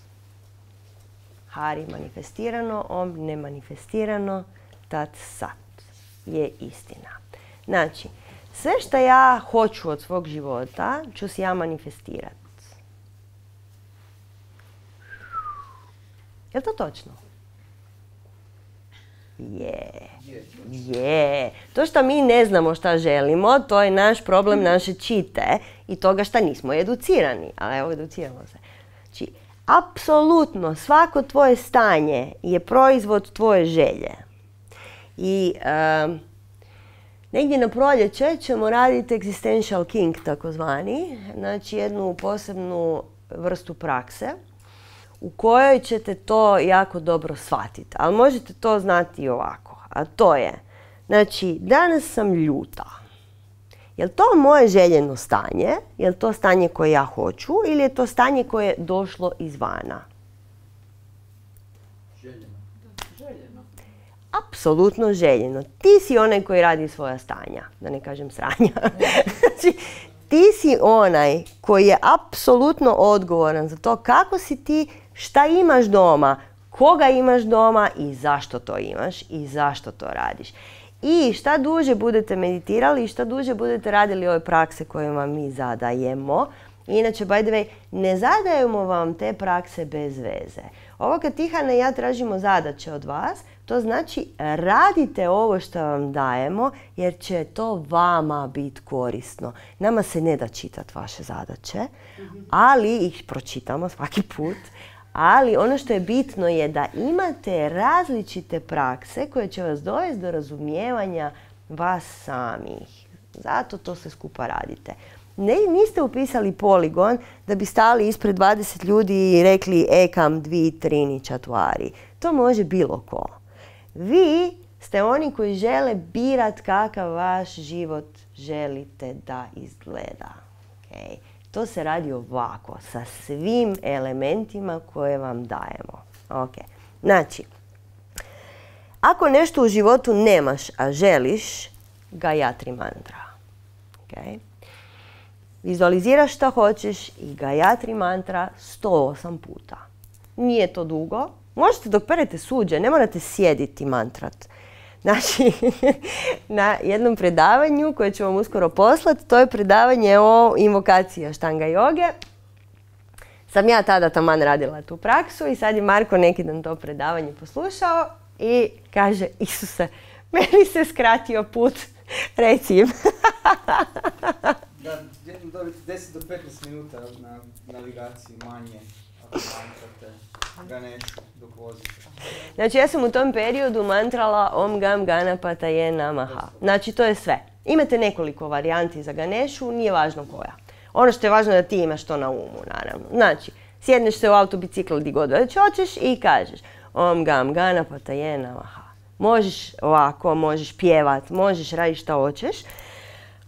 A: Hari manifestirano, Om nemanifestirano, Tat Sat je istina. Znači, sve što ja hoću od svog života ću si ja manifestirati. Je li to točno? Je. Je. To što mi ne znamo šta želimo, to je naš problem, naše čite i toga što nismo educirani. Ali evo, educiramo se. Znači, apsolutno svako tvoje stanje je proizvod tvoje želje. I um, negdje na proljeće ćemo raditi Existential King, takozvani, znači jednu posebnu vrstu prakse u kojoj ćete to jako dobro shvatiti. Ali možete to znati i ovako. A to je, znači, danas sam ljuta. Je li to moje željeno stanje? Je li to stanje koje ja hoću? Ili je to stanje koje je došlo izvana?
B: Željeno. Željeno.
A: Apsolutno željeno. Ti si onaj koji radi svoja stanja, da ne kažem sranja. Znači, ti si onaj koji je apsolutno odgovoran za to kako si ti, šta imaš doma, koga imaš doma i zašto to imaš i zašto to radiš. I šta duže budete meditirali i šta duže budete radili ove prakse koje vam mi zadajemo. Inače, by the way, ne zadajemo vam te prakse bez veze. Ovo kad Tihana i ja tražimo zadaće od vas, to znači radite ovo što vam dajemo jer će to vama biti korisno. Nama se ne da čitati vaše zadaće, ali ih pročitamo svaki put. Ali ono što je bitno je da imate različite prakse koje će vas dovesti do razumijevanja vas samih. Zato to sve skupa radite. Ne, niste upisali poligon da bi stali ispred dvadeset ljudi i rekli ekam dvi trini čatvari. To može bilo ko. Vi ste oni koji žele birat kakav vaš život želite da izgleda. Okay. To se radi ovako, sa svim elementima koje vam dajemo. Okay. Znači, ako nešto u životu nemaš, a želiš, Gayatri mantra. Okay. Vizualiziraš šta hoćeš i Gayatri mantra sto osam puta. Nije to dugo. Možete dok perete suđe, ne morate sjediti mantrat. Znači, na jednom predavanju koje ću vam uskoro poslati, to je predavanje o invokaciji Ashtanga joge. Sam ja tada taman radila tu praksu i sad je Marko neki dan to predavanje poslušao i kaže, Isuse, meni se skratio put, reci im.
C: Da, dobiti deset do petnaest minuta na navigaciji manje, Ganešu dok vozite.
A: Znači ja sam u tom periodu mantrala Om Gam Ganapataye Namaha. Znači to je sve. Imate nekoliko varijanti za Ganešu, nije važno koja. Ono što je važno je da ti imaš to na umu, naravno. Znači, sjedneš se u autobicikl gdje god već hoćeš i kažeš Om Gam Ganapataye Namaha. Možeš ovako, možeš pjevat, možeš raditi šta hoćeš.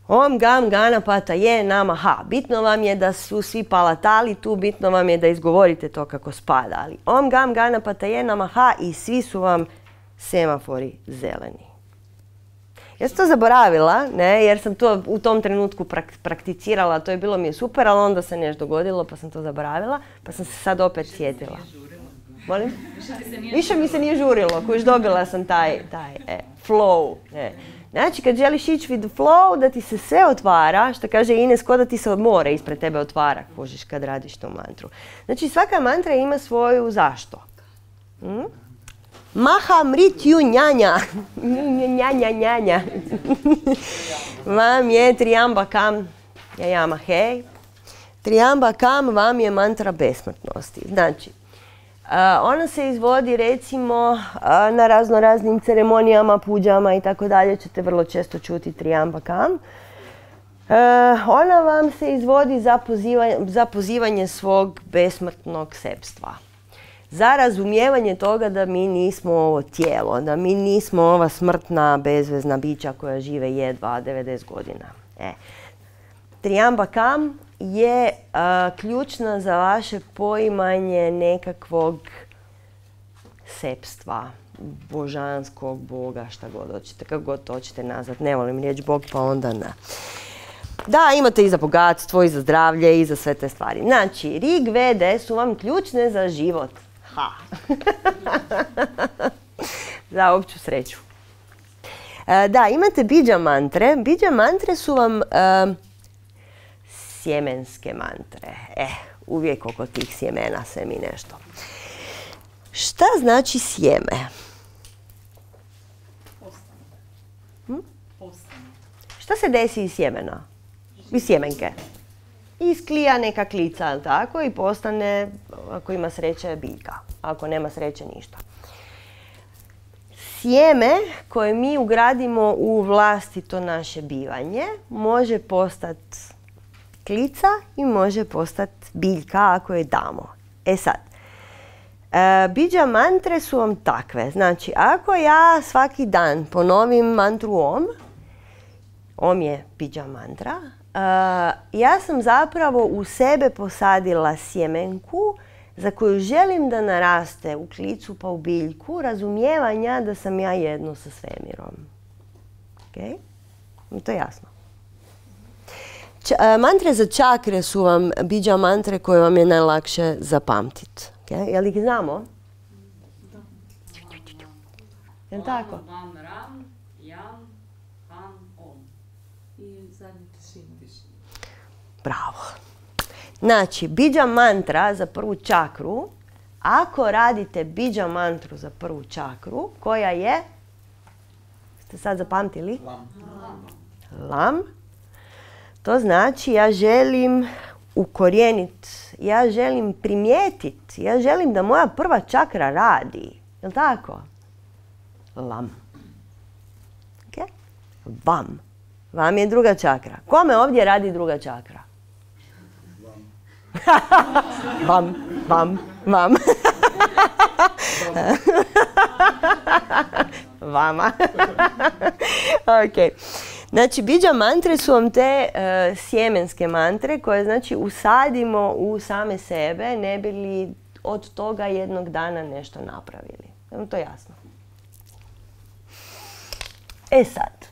A: Om Gam Ganapataye Namaha. Bitno vam je da su svi palatali tu, bitno vam je da izgovorite to kako spada. Ali Om Gam Ganapataye Namaha i svi su vam semafori zeleni. Ja sam to zaboravila, ne, jer sam to u tom trenutku prak prakticirala, to je bilo mi je super, ali onda se nešto dogodilo pa sam to zaboravila, pa sam se sad opet sjetila. Molim? Više mi se nije žurilo, kojiš dobila sam taj, taj e, flow. Ne. Znači kad želiš ići with the flow, da ti se sve otvara, što kaže Ines, ko da ti se more ispred tebe otvara, kužiš kad radiš tu mantru. Znači svaka mantra ima svoju zašto. Hm? Maha mritju njanja. Njanja njanja. Vam je Triambakam jajama hej. Triambakam vam je mantra besmrtnosti. Znači, Uh, ona se izvodi recimo uh, na razno raznim ceremonijama, puđama i tako dalje, ćete vrlo često čuti Triambakam. Uh, ona vam se izvodi za pozivanje, za pozivanje svog besmrtnog sebstva. Za razumijevanje toga da mi nismo ovo tijelo, da mi nismo ova smrtna, bezvezna bića koja žive jedva devedeset godina. E. Triambakam je uh, ključna za vaše poimanje nekakvog sepstva, božanskog boga, šta god hoćete, kako god to hoćete nazvat. Ne volim riječ bog, pa onda ne. Da, imate i za bogatstvo, i za zdravlje, i za sve te stvari. Znači, Rig Vede su vam ključne za život. Ha! Za opću sreću. Uh, da, imate Bidža mantre. Bidža mantre su vam uh, sjemenske mantre. Eh, uvijek oko tih sjemena se mi nešto. Šta znači sjeme?
B: Postane.
A: Hm?
B: Postane.
A: Šta se desi iz sjemena? Iz sjemenke? Isklija neka klica, tako, i postane, ako ima sreće, biljka. Ako nema sreće, ništa. Sjeme koje mi ugradimo u vlastito naše bivanje može postati klica i može postati biljka ako je damo. E sad, e, Bidža mantre su vam takve. Znači, ako ja svaki dan ponovim mantru Om, Om je Bidža mantra, e, ja sam zapravo u sebe posadila sjemenku za koju želim da naraste u klicu pa u biljku razumijevanja da sam ja jedno sa svemirom. Ok? To je jasno. Č- mantre za čakre su vam Bidža mantre koje vam je najlakše zapamtiti. Okay? Jel ih znamo?
B: Da.
A: Jel tako?
D: Vam, ram, jam, han, om.
B: I zadnji tišina.
A: Bravo. Znači, Bidža mantra za prvu čakru, ako radite Bidža mantru za prvu čakru, koja je, ste sad zapamtili?
C: Lam.
A: Lam. To znači ja želim ukorijeniti, ja želim primijetiti, ja želim da moja prva čakra radi. Jel' tako? Lam. Okay? Vam. Vam je druga čakra. Kome ovdje radi druga čakra? Vam, vam, vam. Vama. Ok. Znači, Bidža mantre su vam te uh, sjemenske mantre koje, znači, usadimo u same sebe, ne bi li od toga jednog dana nešto napravili. Je li to jasno? E sad.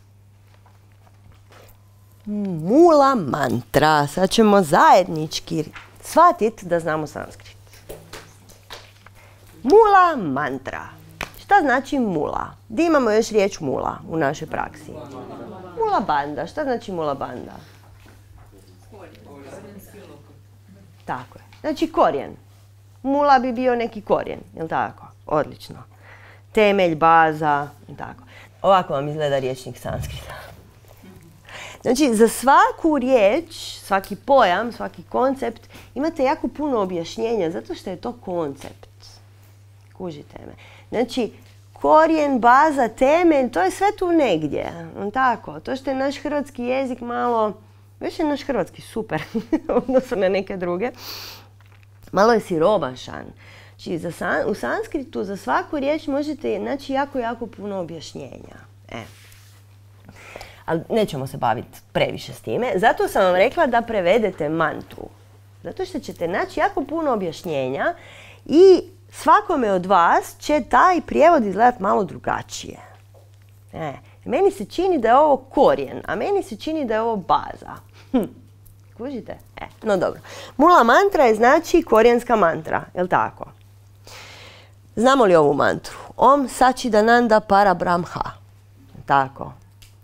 A: Mula mantra. Sad ćemo zajednički shvatiti da znamo sanskrit. Mula mantra. Šta znači mula? Gdje imamo još riječ mula u našoj praksi? Mula banda. Šta znači mula banda? Tako je. Znači korijen. Mula bi bio neki korijen, jel' tako? Odlično. Temelj, baza i tako. Ovako vam izgleda riječnik sanskrita. Znači, za svaku riječ, svaki pojam, svaki koncept, imate jako puno objašnjenja, zato što je to koncept. Kužite me. Znači, korijen, baza, temelj, to je sve tu negdje. Tako, to što je naš hrvatski jezik malo, već je naš hrvatski super, odnosno na neke druge, malo je siromašan. Znači, za san, u sanskritu za svaku riječ možete naći jako, jako puno objašnjenja. E. Ali nećemo se baviti previše s time. Zato sam vam rekla da prevedete mantru. Zato što ćete naći jako puno objašnjenja i svakome od vas će taj prijevod izgledati malo drugačije. E. Meni se čini da je ovo korijen, a meni se čini da je ovo baza. Hm. Kužite? E. No dobro. Mula mantra je znači korijenska mantra, jel' tako? Znamo li ovu mantru? Om Sačidananda Parabrahma. Tako.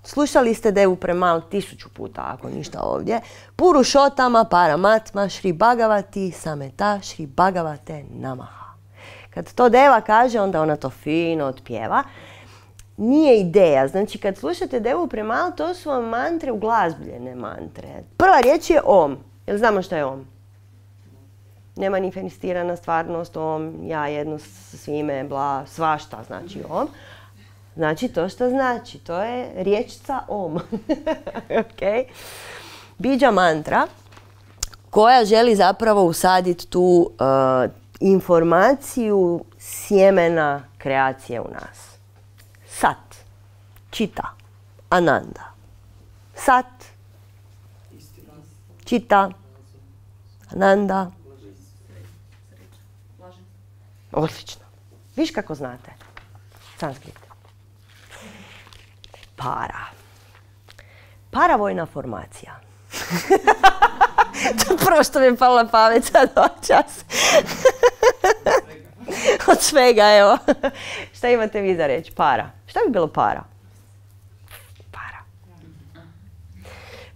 A: Slušali ste Devu Premal tisuću puta, ako ništa ovdje. Purušotama Paramatma Šri Bhagavati Sameta Šri Bhagavate Namaha. Kad to Deva kaže, onda ona to fino otpjeva. Nije ideja. Znači, kad slušate Devu Premal, to su vam mantre, uglazbljene mantre. Prva riječ je Om. Jel znamo što je Om? Nemanifestirana stvarnost, Om, ja jedno s svime, bla, svašta znači Om. Znači to što znači, to je riječca Om. Okay. Bidža mantra koja želi zapravo usaditi tu uh, informaciju sjemena kreacije u nas. Sat, čita, ananda. Sat, čita, ananda. Odlično. Viš kako znate? Sanskrit. Para. Paravojna formacija. To je prvo što mi je palo na pamet sad ovaj čas. Od svega, evo. Šta imate vi za reći? Para. Šta bi bilo para? Para.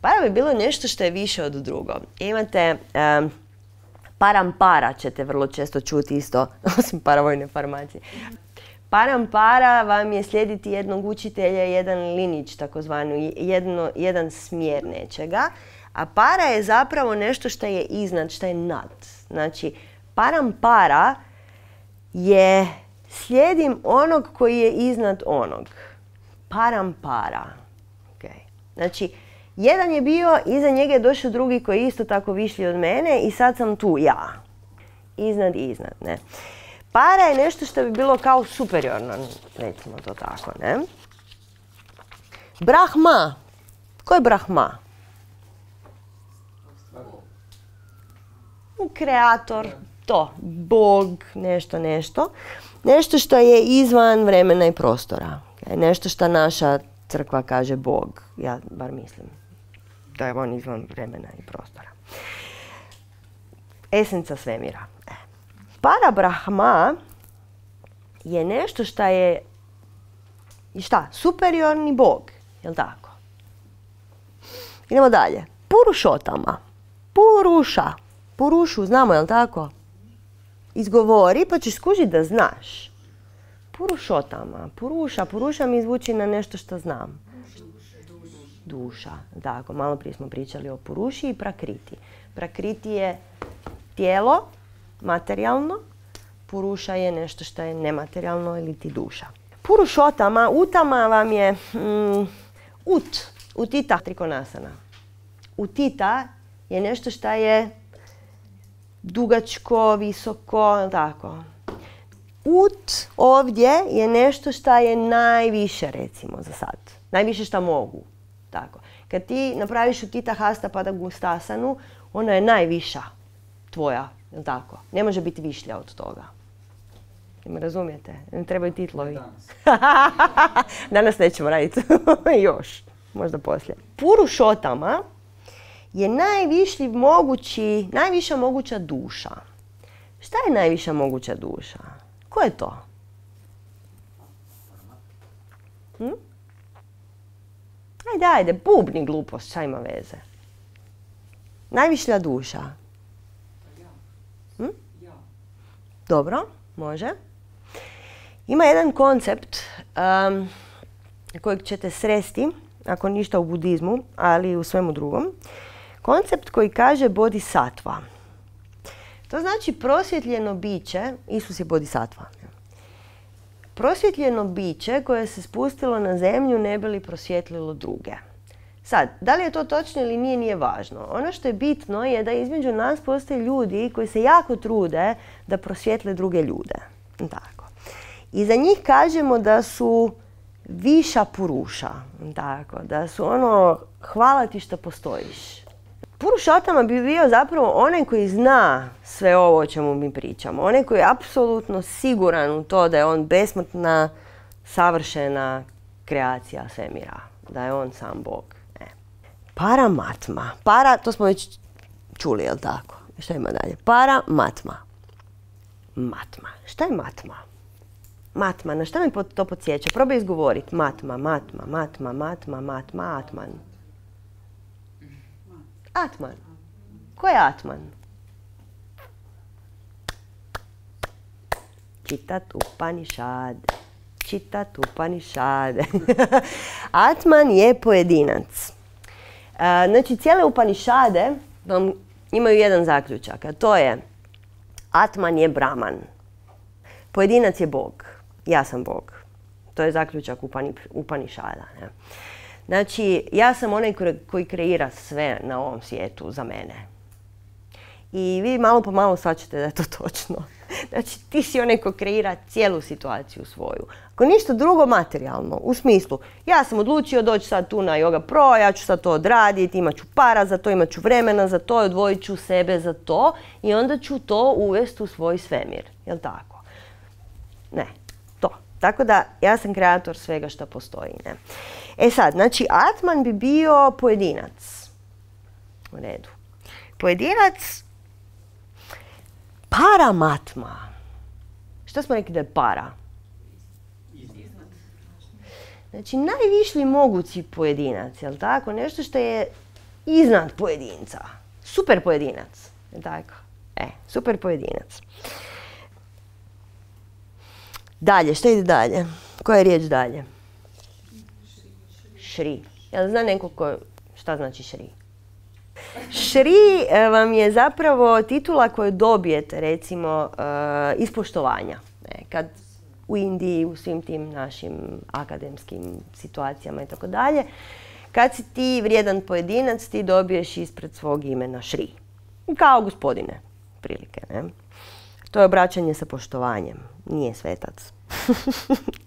A: Para bi bilo nešto što je više od drugo. Imate... Um, Parampara ćete vrlo često čuti isto, osim paravojne formacije. Parampara vam je slijediti jednog učitelja, jedan linić, takozvani, jedno, jedan smjer nečega. A para je zapravo nešto što je iznad, što je nad. Znači, parampara je slijedim onog koji je iznad onog. Parampara. Okay. Znači, jedan je bio, iza njega je došao drugi koji je isto tako višlji od mene i sad sam tu ja. Iznad i iznad, ne. Para je nešto što bi bilo kao superiorno, recimo to tako, ne. Brahma. Ko je Brahma? Kreator, to, Bog, nešto, nešto. Nešto što je izvan vremena i prostora. Nešto što naša crkva kaže Bog, ja bar mislim. Da je on izvan vremena i prostora. Esenca svemira. Parabrahma je nešto što je šta? Superiorni Bog. Jel' tako? Idemo dalje. Purušotama. Puruša. Purušu, znamo, jel' tako? Izgovori pa ćeš skužiti da znaš. Purušotama. Puruša. Puruša mi zvuči na nešto što znam. Duša. Tako, malo prije smo pričali o puruši i prakriti. Prakriti je tijelo, materijalno. Puruša je nešto što je nematerijalno ili ti duša. Purušotama, utama vam je mm, ut, utita trikonasana. Utita je nešto što je dugačko, visoko, tako. Ut ovdje je nešto što je najviše, recimo, za sad. Najviše što mogu. Tako. Kad ti napraviš utita hasta pada gustasanu, ona je najviša tvoja, jel tako? Ne može biti višlja od toga. Ne razumijete? Ne trebaju titlovi. Danas. Danas nećemo raditi. Još. Možda poslije. Purušotama je najviši mogući, najviša moguća duša. Šta je najviša moguća duša? Ko je to? Hm? Ajde, ajde, bubni glupost, šta ima veze? Najvišlja duša. Hm? Dobro, može. Ima jedan koncept um, kojeg ćete sresti ako ništa u budizmu, ali i u svemu drugom. Koncept koji kaže bodhisattva. To znači prosvjetljeno biće, Isus je bodhisattva. Prosvjetljeno biće koje se spustilo na zemlju ne bi li prosvjetlilo druge. Sad, da li je to točno ili nije, nije važno. Ono što je bitno je da između nas postoje ljudi koji se jako trude da prosvjetle druge ljude. Tako. I za njih kažemo da su viša puruša. Tako. Da su ono, hvala ti što postojiš. Purušotama bi bio zapravo onaj koji zna sve ovo o čemu mi pričamo. Onaj koji je apsolutno siguran u to da je on besmrtna, savršena kreacija svemira. Da je on sam Bog. E. Paramatma. Para, to smo već čuli, jel tako? Šta ima dalje? Paramatma. Matma. Šta je matma? Matma. Na šta mi to podsjeća? Probaj izgovoriti. Matma, matma, matma, matma, matma, atman. Atman. Ko je Atman? Čitat Upanišade. Čitat Upanišade. Atman je pojedinac. Znači, cijele Upanišade vam imaju jedan zaključak, a to je Atman je Brahman. Pojedinac je Bog. Ja sam Bog. To je zaključak Upanišada. Ne? Znači, ja sam onaj koji kreira sve na ovom svijetu za mene. I vi malo po malo shvaćate da je to točno. Znači, ti si onaj koji kreira cijelu situaciju svoju. Ako ništa drugo, materijalno, u smislu, ja sam odlučio doći sad tu na Yoga Pro, ja ću sad to odraditi, imat ću para za to, imat ću vremena za to, odvojit ću sebe za to i onda ću to uvesti u svoj svemir. Jel' tako? Ne, to. Tako da, ja sam kreator svega što postoji. Ne? E sad, znači, Atman bi bio pojedinac. U redu. Pojedinac, paramatma. Šta smo rekli da je para? Znači, najvišli mogući pojedinac, jel' tako? Nešto što je iznad pojedinca. Super pojedinac, jel' tako? E, super pojedinac. Dalje, šta ide dalje? Koja je riječ dalje? Šri. Jel zna neko ko, šta znači šri? Šri vam je zapravo titula koju dobijete, recimo, iz poštovanja. Kad u Indiji, u svim tim našim akademskim situacijama i tako dalje, kad si ti vrijedan pojedinac, ti dobiješ ispred svog imena šri. Kao gospodine, prilike. Ne? To je obraćanje sa poštovanjem. Nije svetac.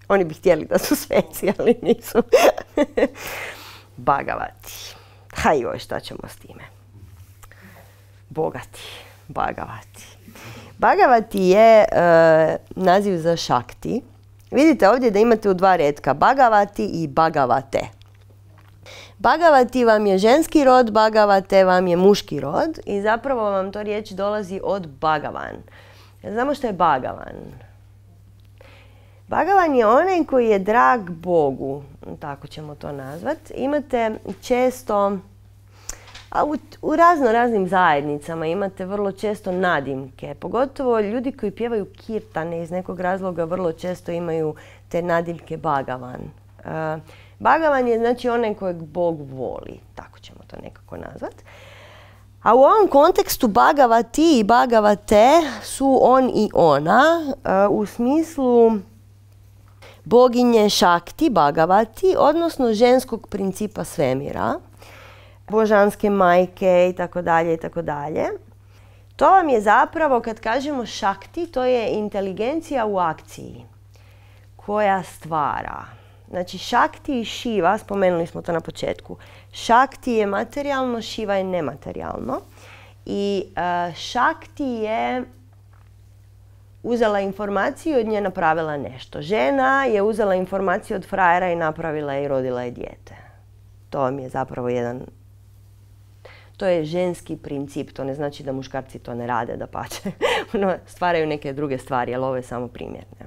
A: Oni bi htjeli da su sveci, ali nisu. Bagavati. Ha joj, šta ćemo s time? Bogati. Bagavati. Bagavati je e, naziv za šakti. Vidite ovdje da imate u dva retka Bagavati i Bagavate. Bagavati vam je ženski rod, Bagavate vam je muški rod i zapravo vam to riječ dolazi od Bagavan. Znamo što je Bagavan. Bagavan je onaj koji je drag Bogu, tako ćemo to nazvati. Imate često, a u, u razno raznim zajednicama imate vrlo često nadimke. Pogotovo ljudi koji pjevaju kirtane iz nekog razloga vrlo često imaju te nadimke Bagavan. Uh, Bagavan je znači onaj kojeg Bog voli, tako ćemo to nekako nazvati. A u ovom kontekstu Bagavati i Bagavate su on i ona uh, u smislu boginje Šakti, Bagavati, odnosno ženskog principa svemira, božanske majke i tako dalje i tako dalje. To vam je zapravo, kad kažemo Šakti, to je inteligencija u akciji koja stvara. Znači, Šakti i Šiva, spomenuli smo to na početku. Šakti je materijalno, Šiva je nematerijalno. I uh, Šakti je uzela informaciju i od nje napravila nešto. Žena je uzela informaciju od frajera i napravila je i rodila je dijete. To vam je zapravo jedan... To je ženski princip, to ne znači da muškarci to ne rade, dapače. Stvaraju neke druge stvari, ali ovo je samo primjer. Ne?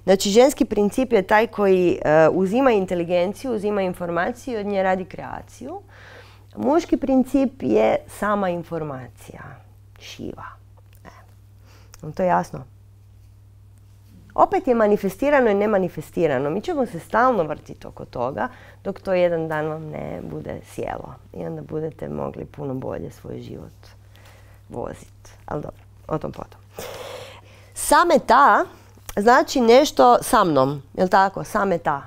A: Znači, ženski princip je taj koji uh, uzima inteligenciju, uzima informaciju i od nje radi kreaciju. Muški princip je sama informacija, Šiva. E. To je jasno? opet je manifestirano i nemanifestirano. Mi ćemo se stalno vrtiti oko toga dok to jedan dan vam ne bude sjelo. I onda budete mogli puno bolje svoj život voziti. Ali dobro, o tom potom. Sameta znači nešto sa mnom, jel tako? Sameta.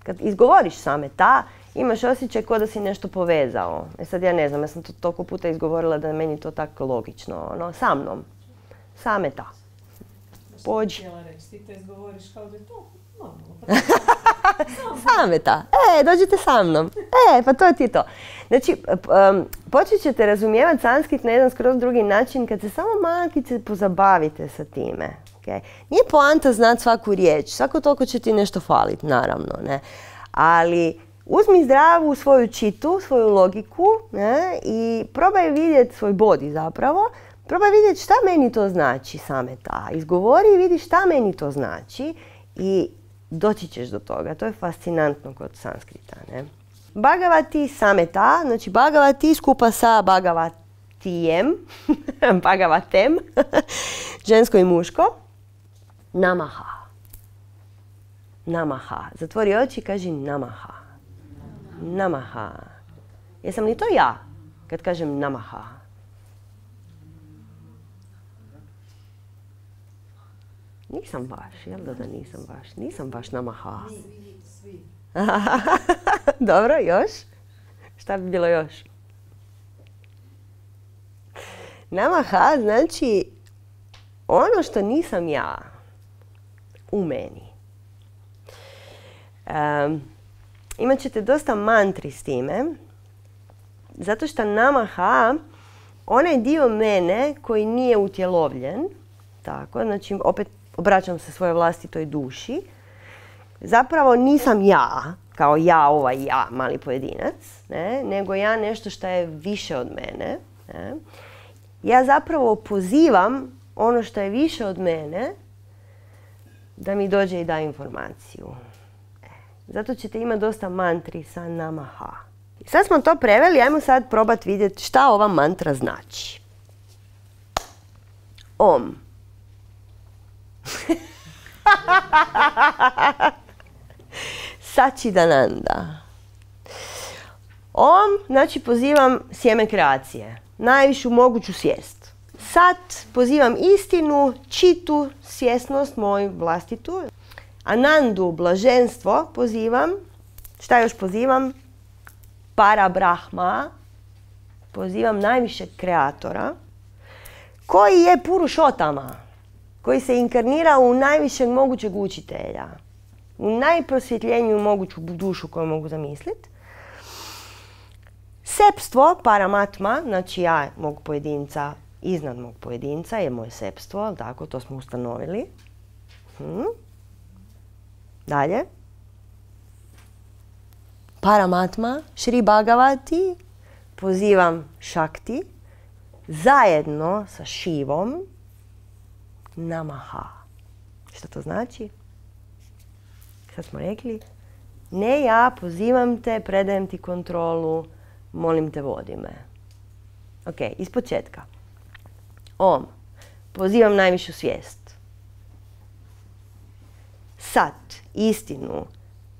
A: Kad izgovoriš sameta, imaš osjećaj kao da si nešto povezao. E sad ja ne znam, ja sam to toliko puta izgovorila da je meni to tako logično. Ono, sa mnom. Sameta. Pođi.
B: Htjela reći, ti to izgovoriš kao da je to normalno.
A: Sameta. E, dođite sa mnom. E, pa to ti je to. Znači, um, počet ćete razumijevati sanskrit na jedan skroz drugi način kad se samo malkice pozabavite sa time. Okay? Nije poanta znati svaku riječ. Svako toliko će ti nešto faliti, naravno. Ne? Ali uzmi zdravu svoju čitu, svoju logiku, ne? I probaj vidjeti svoj body zapravo. Probaj vidjeti šta meni to znači sameta. Izgovori i vidi šta meni to znači i doći ćeš do toga. To je fascinantno kod sanskrita. Ne? Bhagavati sameta, znači Bhagavati skupa sa Bhagavatijem, Bhagavatem, žensko i muško. Namaha. Namaha. Zatvori oči i kaži namaha. Namaha. Jesam li to ja kad kažem namaha? Nisam baš, jel da da nisam baš? Nisam baš namaha.
B: Svi.
A: Dobro, još? Šta bi bilo još? Namaha znači ono što nisam ja u meni. Um, imat ćete dosta mantri s time, zato što namaha, onaj dio mene koji nije utjelovljen, tako, znači opet obraćam se svojoj vlastitoj duši, zapravo nisam ja, kao ja, ovaj ja, mali pojedinac, ne, nego ja nešto što je više od mene. Ne. Ja zapravo pozivam ono što je više od mene da mi dođe i da informaciju. Zato ćete imati dosta mantri sa namaha. Sad smo to preveli, ajmo sad probati vidjeti šta ova mantra znači. Om. Sačidananda. Om, znači pozivam sjeme kreacije, najvišu moguću svijest. Sat, pozivam istinu, čitu, svjesnost moju vlastitu. Anandu, blaženstvo, pozivam. Šta još pozivam? Parabrahma, pozivam najvišeg kreatora, koji je Purušotama, koji se inkarnira u najvišeg mogućeg učitelja, u najprosvjetljeniju moguću dušu koju mogu zamisliti. Sepstvo, paramatma, znači ja mog pojedinca, iznad mog pojedinca je moje sepstvo, tako, to smo ustanovili. Hmm. Dalje. Paramatma, Šri Bhagavati, pozivam Šakti, zajedno sa Šivom, namaha. Što to znači? Sad smo rekli, ne ja, pozivam te, predajem ti kontrolu, molim te, vodi me. Ok, iz početka. Om, pozivam najvišu svijest. Sat, istinu,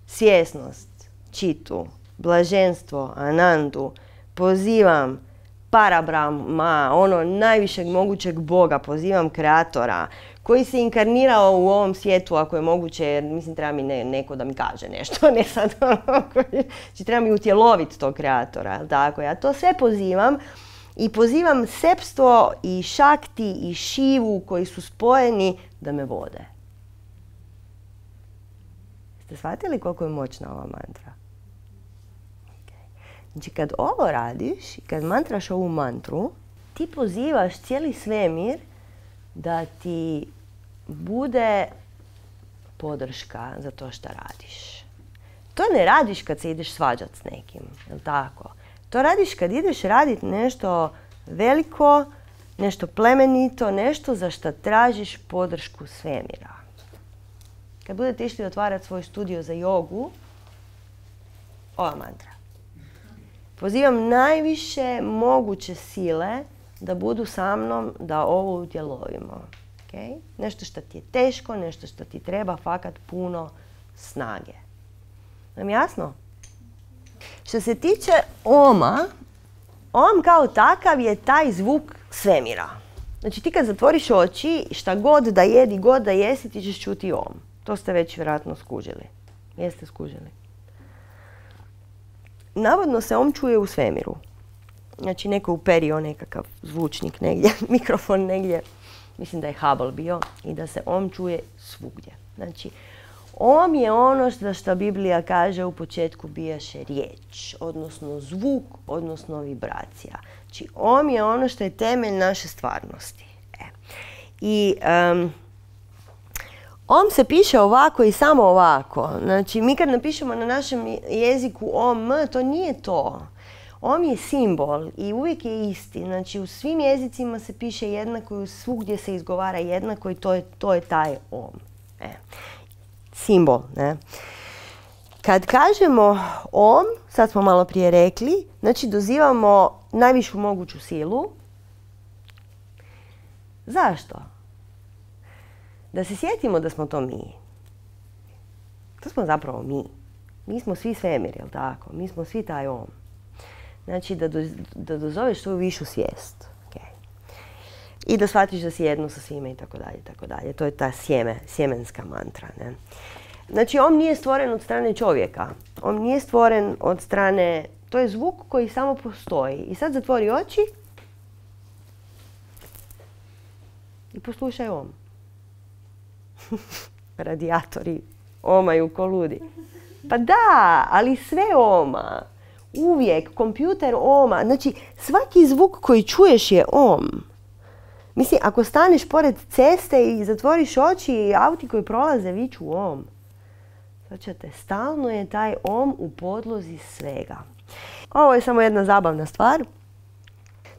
A: svjesnost, čitu, blaženstvo, anandu, pozivam Parabrahma, ono najvišeg mogućeg Boga, pozivam kreatora, koji se inkarnirao u ovom svijetu, ako je moguće, jer mislim treba mi ne, neko da mi kaže nešto, ne sad ono, znači treba mi utjeloviti tog kreatora, tako, ja to sve pozivam i pozivam sepstvo i šakti i šivu koji su spojeni da me vode. Ste shvatili koliko je moćna ova mantra? Okay. Znači kad ovo radiš i kad mantraš ovu mantru, ti pozivaš cijeli svemir da ti bude podrška za to što radiš. To ne radiš kad se ideš svađati s nekim, jel tako? To radiš kad ideš raditi nešto veliko, nešto plemenito, nešto za što tražiš podršku svemira. Kad budete išli otvarati svoj studio za jogu, ova mantra. Pozivam najviše moguće sile da budu sa mnom da ovo utjelovimo. Okay? Nešto što ti je teško, nešto što ti treba fakat puno snage. Nam jasno? Što se tiče oma, om kao takav je taj zvuk svemira. Znači ti kad zatvoriš oči, šta god da jedi, god da jesi, ti ćeš čuti om. To ste već vjerojatno skužili. Jeste skužili. Navodno se om čuje u svemiru. Znači neko uperio nekakav zvučnik negdje, mikrofon negdje. Mislim da je Hubble bio i da se om čuje svugdje. Znači, om je ono što, što Biblija kaže u početku bijaše riječ, odnosno zvuk, odnosno vibracija. Znači, om je ono što je temelj naše stvarnosti. E. I um, om se piše ovako i samo ovako. Znači, mi kad napišemo na našem jeziku om, to nije to. Om je simbol i uvijek je isti. Znači, u svim jezicima se piše jednako i svugdje se izgovara jednako i to je, to je taj om. E. Simbol, ne? Kad kažemo om, sad smo malo prije rekli, znači dozivamo najvišu moguću silu. Zašto? Da se sjetimo da smo to mi. To smo zapravo mi. Mi smo svi svemir, jel tako? Mi smo svi taj om. Znači da, do, da dozoveš svoju višu svijest. Okay. I da shvatiš da si jedno sa svime i tako dalje, tako dalje. To je ta sjeme, sjemenska mantra, ne? Znači, om nije stvoren od strane čovjeka. On nije stvoren od strane... To je zvuk koji samo postoji. I sad zatvori oči i poslušaj om. Radijatori omaju ko ludi. Pa da, ali sve oma. Uvijek, kompjuter oma. Znači, svaki zvuk koji čuješ je om. Mislim, ako staneš pored ceste i zatvoriš oči i auti koji prolaze viču om. Znači, stalno je taj om u podlozi svega. Ovo je samo jedna zabavna stvar.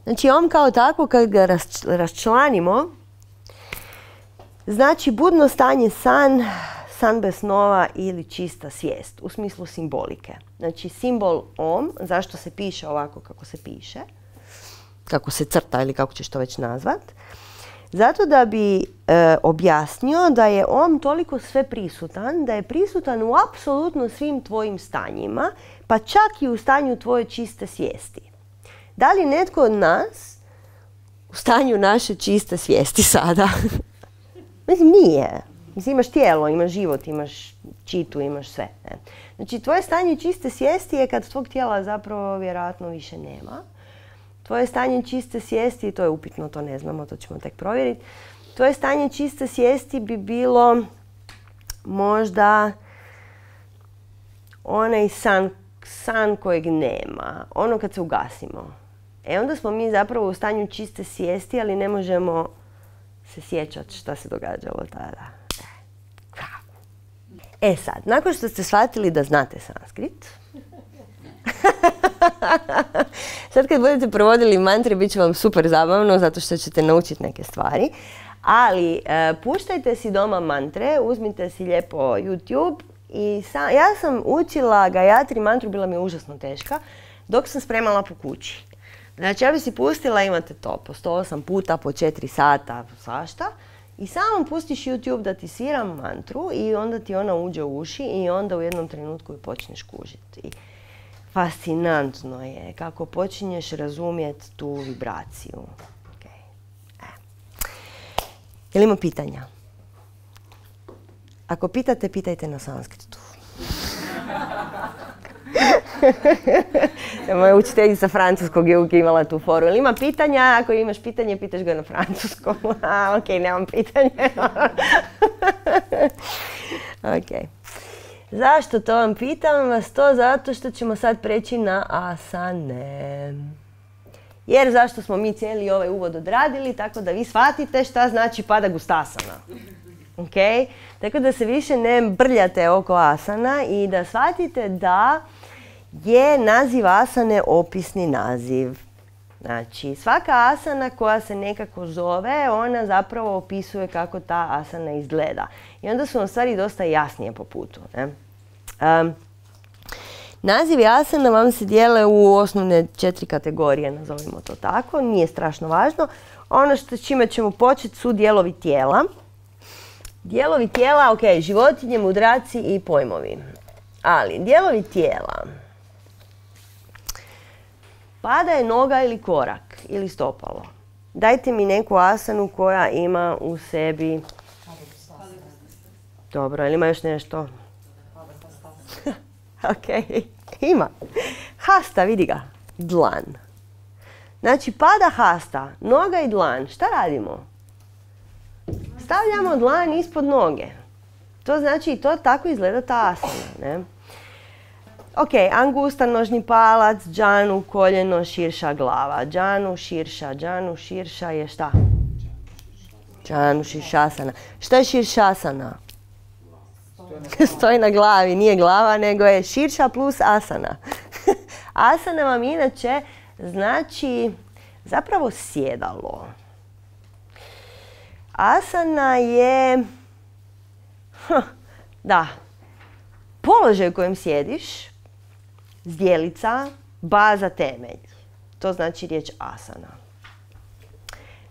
A: Znači, om kao tako, kad ga raščlanimo, znači budno stanje san, san bez snova ili čista svijest, u smislu simbolike. Znači, simbol om, zašto se piše ovako kako se piše, kako se crta ili kako ćeš to već nazvat, zato da bi e, objasnio da je om toliko sve prisutan, da je prisutan u apsolutno svim tvojim stanjima, pa čak i u stanju tvoje čiste svijesti. Da li netko od nas u stanju naše čiste svijesti sada? Mislim, nije. Mislim, imaš tijelo, imaš život, imaš čitu, imaš sve. Ne? Znači, tvoje stanje čiste svijesti je kad tvog tijela zapravo vjerojatno više nema. Tvoje stanje čiste svijesti, to je upitno, to ne znamo, to ćemo tek provjeriti. Tvoje stanje čiste svijesti bi bilo možda onaj san, san kojeg nema, ono kad se ugasimo. E onda smo mi zapravo u stanju čiste svijesti, ali ne možemo se sjećati šta se događalo tada. E sad, nakon što ste shvatili da znate sanskrit, sad kad budete provodili mantre, bit će vam super zabavno, zato što ćete naučiti neke stvari. Ali e, puštajte si doma mantre, uzmite si lijepo YouTube. I sa, ja sam učila Gayatri mantru, bila mi je užasno teška, dok sam spremala po kući. Znači, ja bi si pustila, imate to, po sto osam puta, po četiri sata, svašta. I samo pustiš YouTube da ti svira mantru i onda ti ona uđe u uši i onda u jednom trenutku ju počneš kužiti. Fascinantno je kako počinješ razumjeti tu vibraciju. Okay. E. Jel ima pitanja? Ako pitate, pitajte na sanskritu. Moja učiteljica francuskog je uvijek imala tu foru. Jel ima pitanja? Ako imaš pitanje, pitaš ga na francuskom. A, ok, nemam pitanje. Ok. Zašto to vam pitam vas? To zato što ćemo sad preći na asane. Jer zašto smo mi cijeli ovaj uvod odradili, tako da vi shvatite šta znači pada gustasana. Okay? Tako da se više ne brljate oko asana i da shvatite da je naziv asane opisni naziv. Znači, svaka asana koja se nekako zove, ona zapravo opisuje kako ta asana izgleda. I onda su vam stvari dosta jasnije po putu. Ne? Um, Nazivi asana vam se dijele u osnovne četiri kategorije, nazovimo to tako, nije strašno važno. Ono što s čime ćemo početi su dijelovi tijela. Dijelovi tijela, ok, životinje, mudraci i pojmovi. Ali dijelovi tijela. Pada je noga ili korak ili stopalo. Dajte mi neku asanu koja ima u sebi... Dobro, ili ima još nešto? Ok, ima. Hasta, vidi ga. Dlan. Znači, pada hasta, noga i dlan. Šta radimo? Stavljamo dlan ispod noge. To znači, to tako izgleda ta asana, ne? Ok, angusta, nožni palac, džanu, koljeno, širša glava. Džanu, širša, džanu, širša je šta? Džanu, širšasana. Šta je širšasana? Stoji na glavi, nije glava, nego je širša plus asana. Asana vam inače znači zapravo sjedalo. Asana je, da, položaj u kojem sjediš, zdjelica, baza, temelj. To znači riječ asana.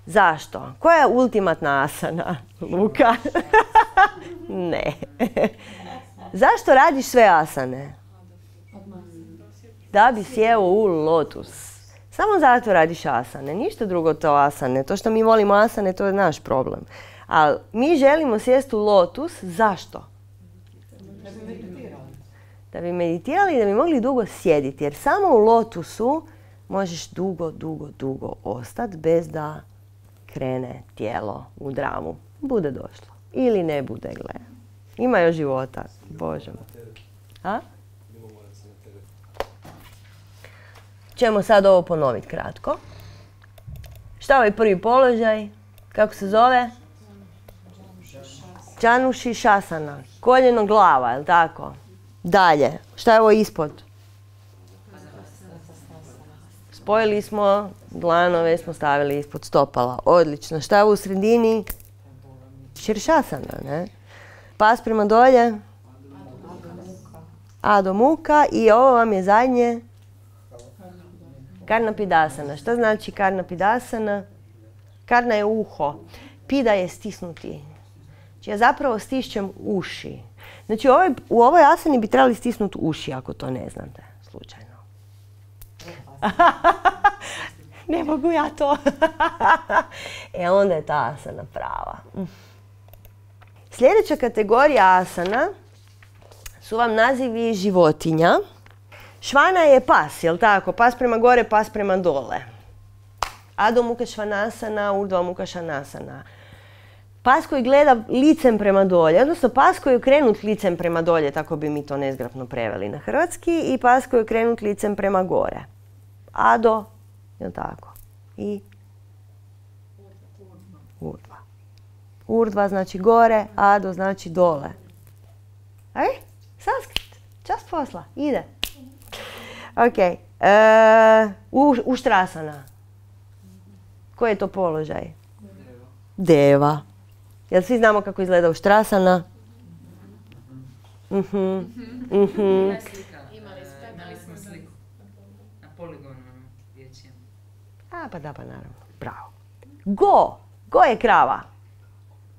A: Zašto? Koja je ultimatna asana, Luka? Ne. Zašto radiš sve asane? Da bi sjeo u lotus. Samo zato radiš asane, ništa drugo to asane. To što mi volimo asane, to je naš problem. Ali mi želimo sjesti u lotus, zašto? Da bi meditirali i da bi mogli dugo sjediti. Jer samo u lotusu možeš dugo, dugo, dugo ostati bez da krene tijelo u dramu. Bude došlo. Ili ne bude, gle. Ima još života. Bože moj. A? Ćemo sad ovo ponoviti kratko. Šta je ovaj prvi položaj? Kako se zove? Džanu širšasana. Koljeno glava, je li tako? Dalje. Šta je ovo ispod? Spojili smo, dlanove smo stavili ispod stopala. Odlično. Šta je ovo u sredini? Širšasana, ne? Pas prema dolje. Adho Mukha. I ovo vam je zadnje. Karna Pidasana. Šta znači Karna Pidasana? Karna je uho. Pida je stisnuti. Znači ja zapravo stišćem uši. Znači u ovoj, u ovoj asani bi trebali stisnuti uši ako to ne znate. Slučajno. Ne mogu ja to. E onda je ta asana prava. Sljedeća kategorija asana su vam nazivi životinja. Švana je pas, jel tako? Pas prema gore, pas prema dole. Adho Mukha Svanasana, Urdhva Mukha Svanasana. Pas koji gleda licem prema dolje, odnosno pas koji je okrenut licem prema dolje, tako bi mi to nezgrapno preveli na hrvatski, i pas koji je okrenut licem prema gore. Adho, jel tako? I Urdhva. Urdhva znači gore, Adho znači dole. Aj, sanskrit, čast posla, ide. Ok, e, u, uštrasana. Koji je to položaj? Deva. Jel svi znamo kako izgleda uštrasana? Mhm. Mhm.
D: Imali smo sliku na poligonu dječjem.
A: A, pa da, pa naravno. Bravo. Go. Go je krava.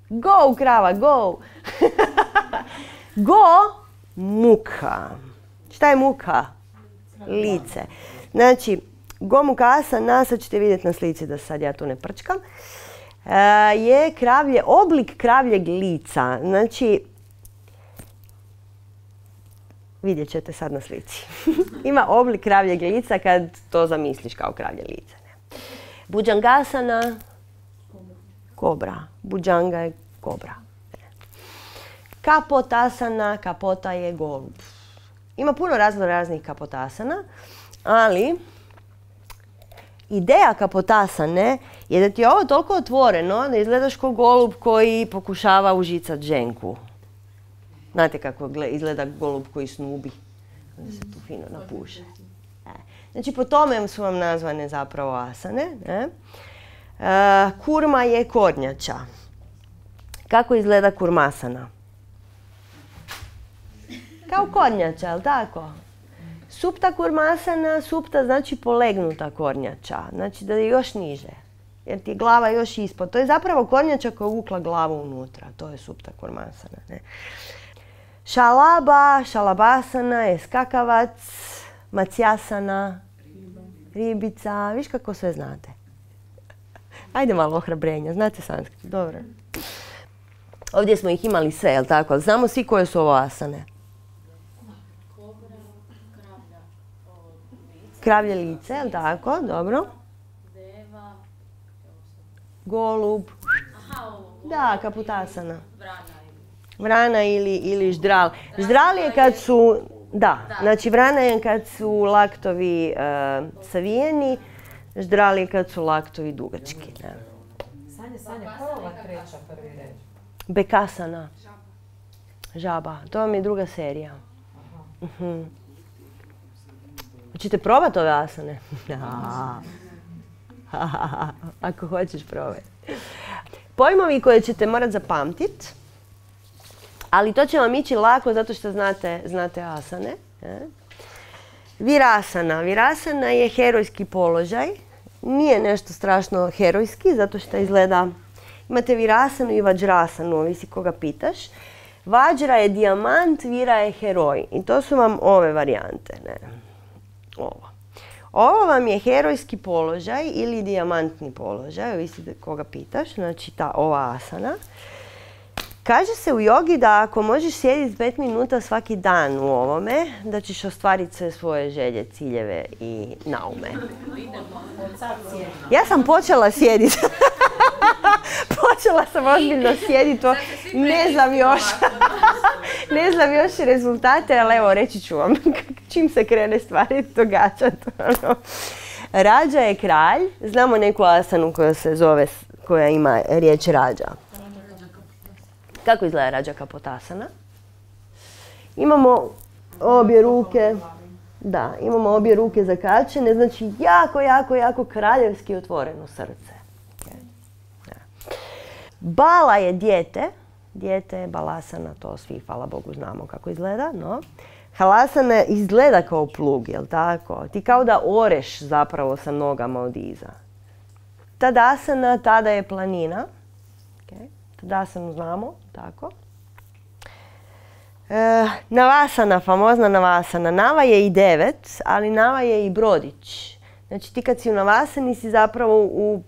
A: Go, krava, go. Go, muka. Šta je muka? Lice. Znači, Go Mukha asana, sad ćete vidjeti na slici da sad ja tu ne prčkam, e, je kravlje, oblik kravljeg lica. Znači, vidjet ćete sad na slici. Ima oblik kravljeg lica kad to zamisliš kao kravlje lice. Ne? Bhujangasana, kobra. Bhujanga je kobra. Kapotasana, kapota je golub. Ima puno razno raznih kapotasana, ali ideja kapotasane je da ti je ovo toliko otvoreno da izgledaš kao golub koji pokušava užicat ženku. Znate kako izgleda golub koji snubi? Onda se tu fino napuše. Znači po tome su vam nazvane zapravo asane. Ne? E, kurma je kornjača. Kako izgleda kurmasana? Kao kornjača, jel tako? Supta kurmasana, supta znači polegnuta kornjača, znači da je još niže, jer ti je glava još ispod. To je zapravo kornjača koja je uvukla glavu unutra, to je supta kurmasana. Ne? Šalaba, šalabasana je skakavac, macijasana, ribica, viš kako sve znate. Ajde malo ohrabrenja, znate sanskrit, dobro. Ovdje smo ih imali sve, jel tako? Znamo svi koje su ovo asane. Kravlje lice, jel tako? Dobro. Golub. Da, kaputasana. Vrana ili, ili ždral. Ždral je kad su, da, znači vrana je kad su laktovi uh, savijeni, ždral je kad su laktovi dugački. Ne.
B: Sanja, Sanja, koja je ova treća prvi red?
A: Bekasana. Žaba. To vam je druga serija. Uh-huh. Hoćete probati ove asane? Ako hoćeš probati. Pojmovi koje ćete morati zapamtiti, ali to će vam ići lako zato što znate, znate asane. Virasana. Virasana je herojski položaj. Nije nešto strašno herojski zato što izgleda... Imate virasanu i vajrasanu, ovisi koga pitaš. Vajra je dijamant, vira je heroj. I to su vam ove varijante. Ne? Ovo. Ovo vam je herojski položaj ili dijamantni položaj, ovisi koga pitaš, znači ta ova asana. Kaže se u jogi da ako možeš sjediti pet minuta svaki dan u ovome, da ćeš ostvariti sve svoje želje, ciljeve i naume. Ja sam počela sjediti. Počela sam ozbiljno sjediti, ne znam još. Ne znam još rezultate, ali evo reći ću vam čim se krene stvari događati. Rađa je kralj, znamo neku asanu koja se zove, koja ima riječ rađa. Kako izgleda rađa kapotasana? Imamo obje ruke, da, imamo obje ruke zakačene, znači jako, jako, jako kraljevski otvoreno srce. Bala je dijete, dijete je balasana, to svi, hvala Bogu, znamo kako izgleda, no. Halasana izgleda kao plug, jel tako? Ti kao da oreš zapravo sa nogama od iza. Tadasana, tada je planina. Okay. Tadasanu znamo, tako. E, navasana, famozna navasana. Nava je i devet, ali nava je i brodić. Znači ti kad si u navasani si zapravo u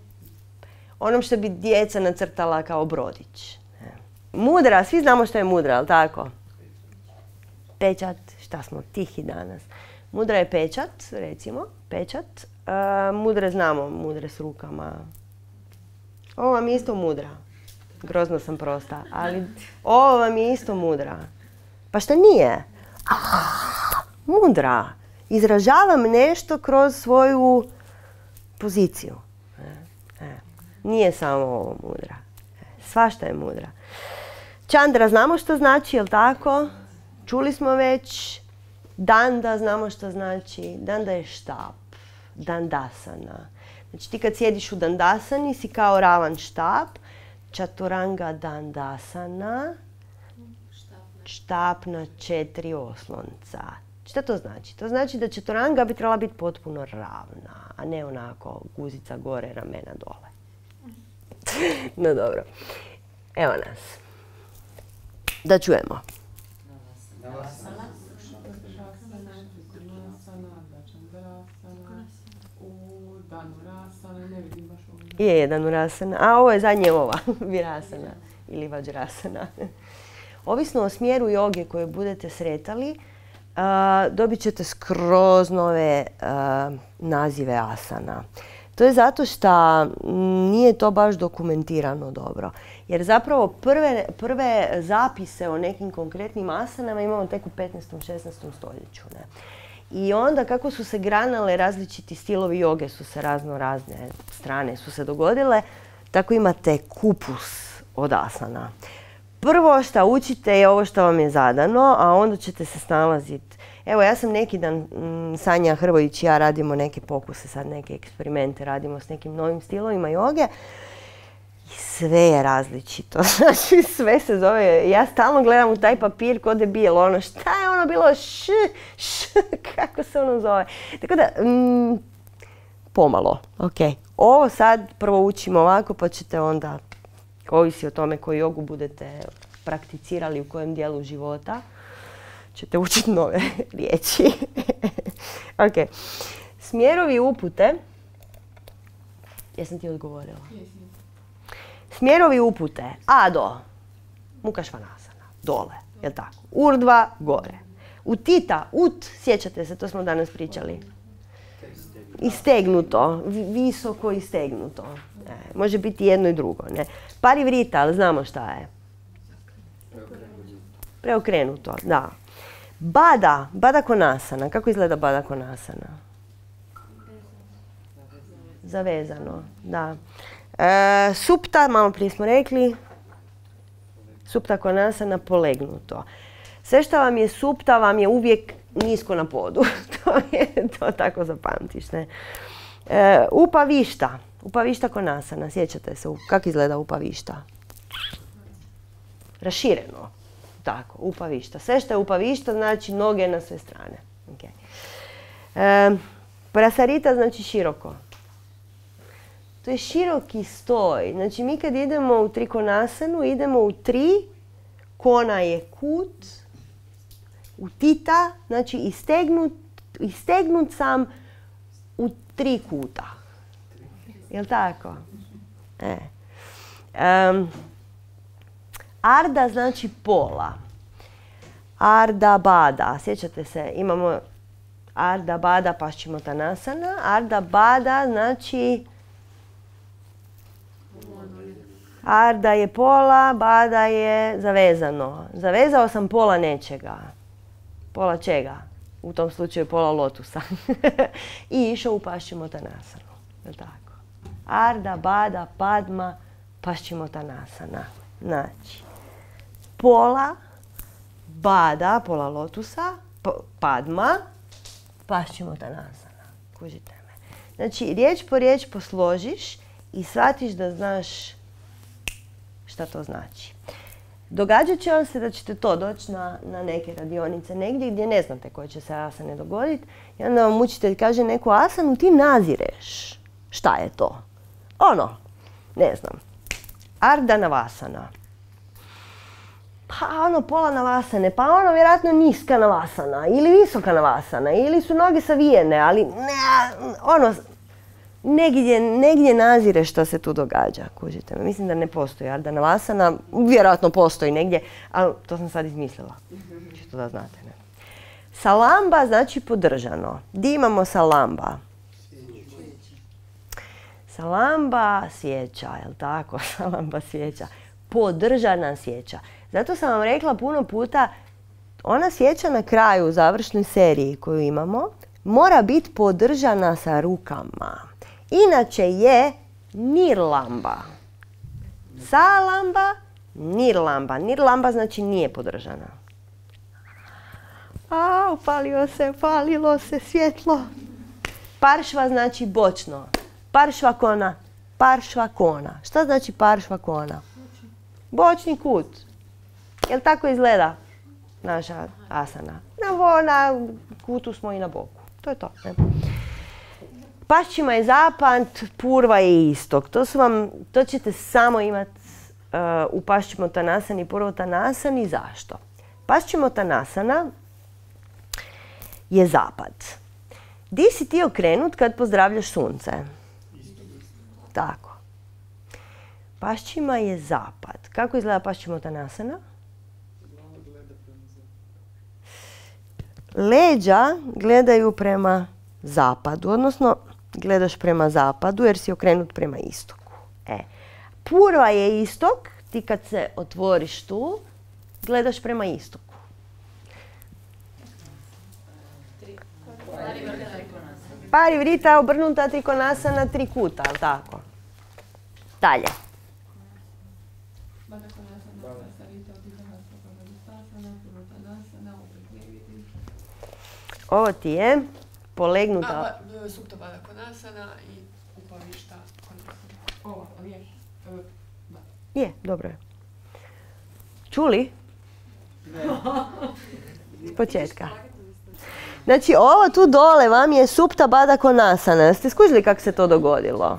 A: onom što bi djeca nacrtala kao brodić. Mudra, svi znamo što je mudra, ali tako? Pečat, šta smo tihi danas. Mudra je pečat, recimo, pečat. E, mudre znamo, mudre s rukama. Ovo vam je isto mudra. Grozno sam prosta, ali ovo vam je isto mudra. Pa šta nije? Ah, mudra. Izražavam nešto kroz svoju poziciju. E, e. Nije samo ovo mudra. E, svašta je mudra. Čandra znamo što znači, jel tako? Čuli smo već. Danda znamo što znači. Danda je štap. Dandasana. Znači ti kad sjediš u dandasani si kao ravan štap. Chaturanga dandasana. Štap na četiri oslonca. Šta to znači? To znači da chaturanga bi trebala biti potpuno ravna, a ne onako guzica gore, ramena dole. No dobro. Evo nas. Da čujemo. Je jedan urasana, a ovo je zadnje ova, virasana ili vajrasana. Ovisno o smjeru joge koju budete sretali, uh, dobit ćete skroz nove uh, nazive asana. To je zato što nije to baš dokumentirano dobro. Jer zapravo prve, prve zapise o nekim konkretnim asanama imamo tek u petnaestom šesnaestom stoljeću. Ne? I onda kako su se granale različiti stilovi joge, su se razno razne strane su se dogodile, tako imate kupus od asana. Prvo što učite je ovo što vam je zadano, a onda ćete se snalaziti. Evo, ja sam neki dan, m, Sanja Hrvojić i ja radimo neke pokuse, sad neke eksperimente, radimo s nekim novim stilovima joge. I sve je različito, znači sve se zove, ja stalno gledam u taj papir ko debil, ono šta je ono bilo š, š, kako se se ono zove. Tako da, mm, pomalo, ok. Ovo sad prvo učimo ovako, pa ćete onda, ovisi o tome koju jogu budete prakticirali u kojem dijelu života, ćete učiti nove riječi. Ok. Smjerovi upute. Jesam ti odgovorila? Smjerovi upute. Ado. Mukha Svanasana. Dole. Jel tako? Urdhva. Gore. Utita. Ut. Sjećate se, to smo danas pričali. Istegnuto. Visoko istegnuto. E, može biti jedno i drugo. Ne? Parivrita, ali znamo šta je. Preokrenuto. Da. Bada. Bada Konasana. Kako izgleda Bada Konasana? Zavezano, da. E, supta, malo prije smo rekli, supta Konasana, polegnuto. Sve što vam je supta vam je uvijek nisko na podu. to, je, to tako zapamtiš, ne? E, upavišta, upavišta Konasana, sjećate se, kako izgleda upavišta? Rašireno, tako, upavišta. Sve što je upavišta znači noge na sve strane. Okay. E, prasarita znači široko. To je široki stoj. Znači mi kad idemo u trikonasanu, idemo u tri, kona je kut, utita, znači istegnut, istegnut sam u tri kuta. Jel' tako? E. Um, arda znači pola. Arda bada. Sjećate se, imamo arda bada paschimottanasana. Arda bada znači arda je pola, bada je zavezano. Zavezao sam pola nečega. Pola čega? U tom slučaju pola lotusa. I išao u paschimottanasanu. Tako. Arda, bada, padma, paschimottanasana. Znači, pola, bada, pola lotusa, padma, paschimottanasana. Kužite me. Znači, riječ po riječ posložiš i shvatiš da znaš šta to znači. Događat će vam se da ćete to doći na, na neke radionice negdje gdje ne znate koje će se asane dogoditi i onda vam učitelj kaže neku asanu, ti nazireš. Šta je to? Ono, ne znam, Ardha Navasana. Pa ono pola navasane, pa ono vjerojatno niska navasana ili visoka navasana ili su noge savijene, ali ne, ono, negdje, negdje nazire što se tu događa. Kužite me, mislim da ne postoji Ardha Navasana, vjerojatno postoji negdje, ali to sam sad izmislila. Čisto da znate. Ne? Salamba znači podržano. Di imamo salamba? Salamba svijeća, jel tako? Salamba svijeća. Podržana svijeća. Zato sam vam rekla puno puta, ona svijeća na kraju u završnoj seriji koju imamo mora biti podržana sa rukama. Inače je nirlamba. Salamba, nirlamba. Nirlamba znači nije podržana. A, upalio se, upalilo se svjetlo. Paršva znači bočno. Paršva kona, paršva kona. Šta znači paršva kona? Bočni kut. Jel tako izgleda naša asana? Na, na kutu smo i na boku. To je to. Ne? Paščima je zapad, purva je istok. To, su vam, to ćete samo imati uh, u paschimottanasani i purvottanasani. Zašto? Paschimottanasana je zapad. Di si ti okrenut kad pozdravljaš sunce? Tako. Paščima je zapad. Kako izgleda paschimottanasana? Leđa gledaju prema zapadu, odnosno gledaš prema zapadu jer si okrenut prema istoku. E, purva je istok, ti kad se otvoriš tu, gledaš prema istoku. Parivrita obrnuta trikonasana tri kuta, ali tako? Dalje. Ovo ti je polegnuta...
E: Supta Baddha Konasana i upavišta Konasana. Ovo, ali je?
A: Je, dobro je. Čuli? S početka. Znači, ovo tu dole vam je Supta Baddha Konasana. Ste skužili kako se to dogodilo?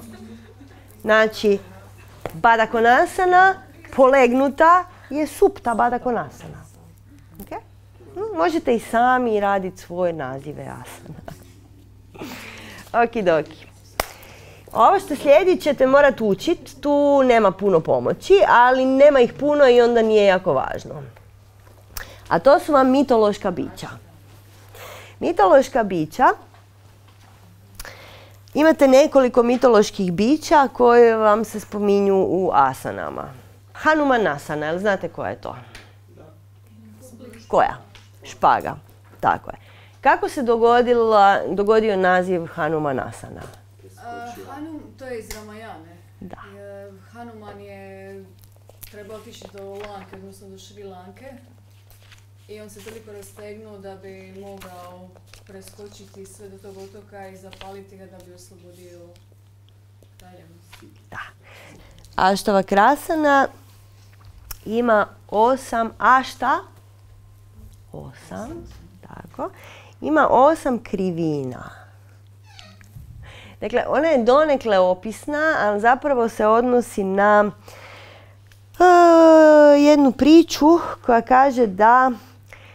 A: Znači, Baddha Konasana, polegnuta, je Supta Baddha Konasana. Okay? Možete i sami raditi svoje nazive asana. Okidoki. Ovo što slijedi ćete morati učiti, tu nema puno pomoći, ali nema ih puno i onda nije jako važno. A to su vam mitološka bića. Mitološka bića, imate nekoliko mitoloških bića koje vam se spominju u asanama. Hanumanasana, jel znate koja je to? Koja? Špaga, tako je. Kako se dogodila, dogodio naziv Hanumanasana?
F: Uh, Hanum, to je iz Ramajane.
A: Da.
F: Uh, Hanuman je trebao otići do Lanke, odnosno do Šri Lanke. I on se toliko rastegnuo da bi mogao preskočiti sve do tog otoka i zapaliti ga da bi oslobodio kraljevnost.
A: Da. Aštavakrasana ima osam ašta. Osam, tako. Ima osam krivina. Dakle, ona je donekle opisna, ali zapravo se odnosi na uh, jednu priču koja kaže da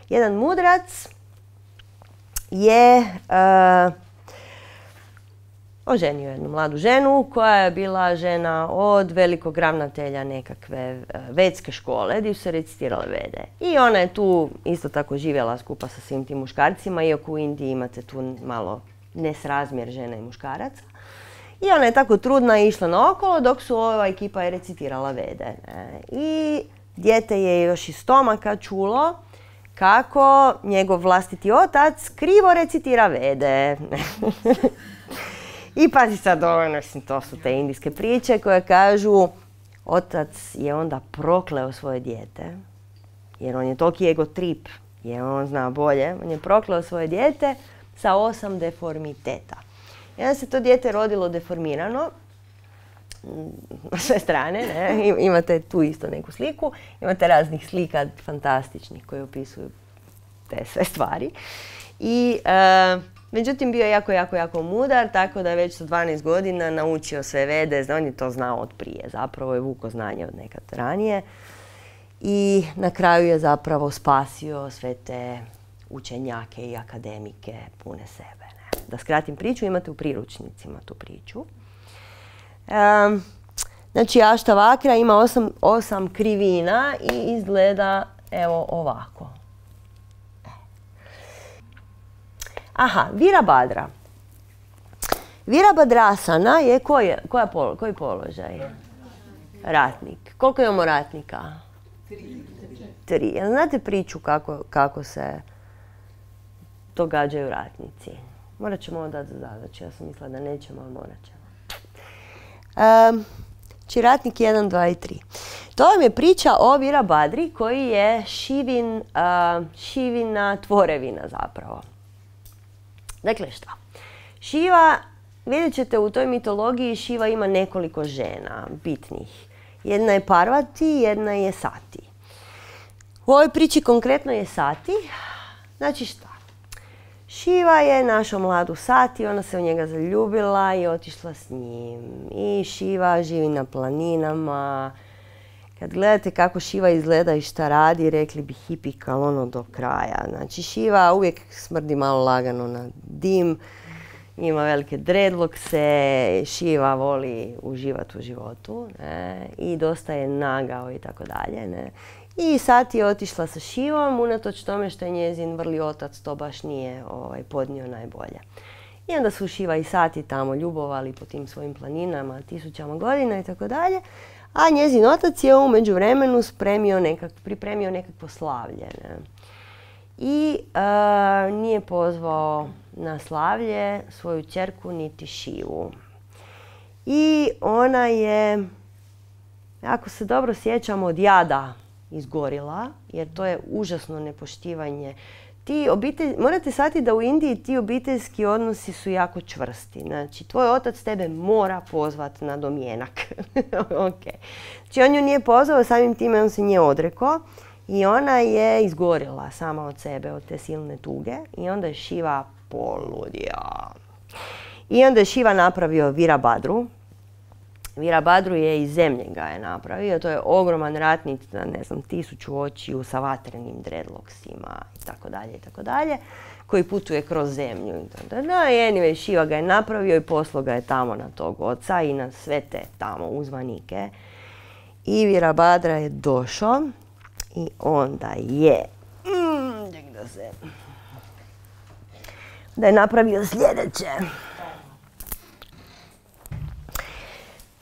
A: jedan mudrac je uh, oženio jednu mladu ženu koja je bila žena od velikog ravnatelja nekakve uh, vedske škole gdje su se recitirale vede. I ona je tu isto tako živjela skupa sa svim tim muškarcima, iako u Indiji imate tu malo nesrazmjer žena i muškaraca. I ona je tako trudna išla naokolo dok su ova ekipa je recitirala vede. Ne? I dijete je još iz stomaka čulo kako njegov vlastiti otac krivo recitira vede. I pazi sad ovo, to su te indijske priče koje kažu otac je onda prokleo svoje dijete, jer on je toliki ego trip, jer on zna bolje, on je prokleo svoje dijete sa osam deformiteta. I onda se to dijete rodilo deformirano, na sve strane, ne? Imate tu isto neku sliku, imate raznih slika fantastičnih koje opisuju te sve stvari. I, e, međutim, bio je jako, jako, jako mudar, tako da je već sa dvanaest godina naučio sve vede, on je to znao od prije, zapravo je vuko znanje od nekad ranije. I na kraju je zapravo spasio sve te učenjake i akademike pune sebe. Ne? Da skratim priču, imate u priručnicima tu priču. Um, znači, Aštavakra ima osam, osam krivina i izgleda evo ovako. Aha, Virabhadra. Virabhadrasana je koji, koja polo, koji položaj? Ratnik. Koliko imamo ratnika? Tri. Tri. Jel znate priču kako, kako se događaju ratnici? Morat ćemo ovo dati za zadaću. Ja sam mislila da nećemo, ali morat ćemo. Um, či ratnik jedan, dva i tri. To vam je priča o Virabhadri koji je Šivin, uh, Šivina tvorevina zapravo. Dakle, šta? Šiva, vidjet ćete u toj mitologiji, Šiva ima nekoliko žena bitnih. Jedna je Parvati, jedna je Sati. U ovoj priči konkretno je Sati. Znači šta? Šiva je našao mladu Sati, ona se u njega zaljubila i otišla s njim. I Šiva živi na planinama. Kad gledate kako Šiva izgleda i šta radi, rekli bi hipikal ono do kraja. Znači Šiva uvijek smrdi malo lagano na dim, ima velike dreadlockse, Šiva voli uživati u životu, ne? I dosta je nagao i tako dalje. Ne? I Sati je otišla sa Šivom, unatoč tome što je njezin vrli otac to baš nije ovaj, podnio najbolje. I onda su Šiva i Sati tamo ljubovali po tim svojim planinama, tisućama godina i tako dalje. A njezin otac je u međuvremenu spremio nekak, pripremio nekakvo slavlje. Ne? I uh, nije pozvao na slavlje svoju ćerku niti Šivu. I ona je, ako se dobro sjećam, od jada izgorila, jer to je užasno nepoštivanje. Ti obitelj, morate shvatiti da u Indiji ti obiteljski odnosi su jako čvrsti. Znači, tvoj otac tebe mora pozvati na domjenak. Okay. Znači, on ju nije pozvao, samim time on se nje odrekao I ona je izgorila sama od sebe, od te silne tuge. I onda je Šiva poludio. I onda je Šiva napravio Virabhadru. Virabhadru je iz zemlje ga je napravio. To je ogroman ratnik, ne znam, tisuću očiju sa vatrenim dreadlocksima i tako dalje i tako dalje, koji putuje kroz zemlju. I anyway, Šiva ga je napravio i poslao ga je tamo na tog oca i na sve te tamo uzvanike. I Virabhadra je došao i onda je mm, da se da je napravio sljedeće.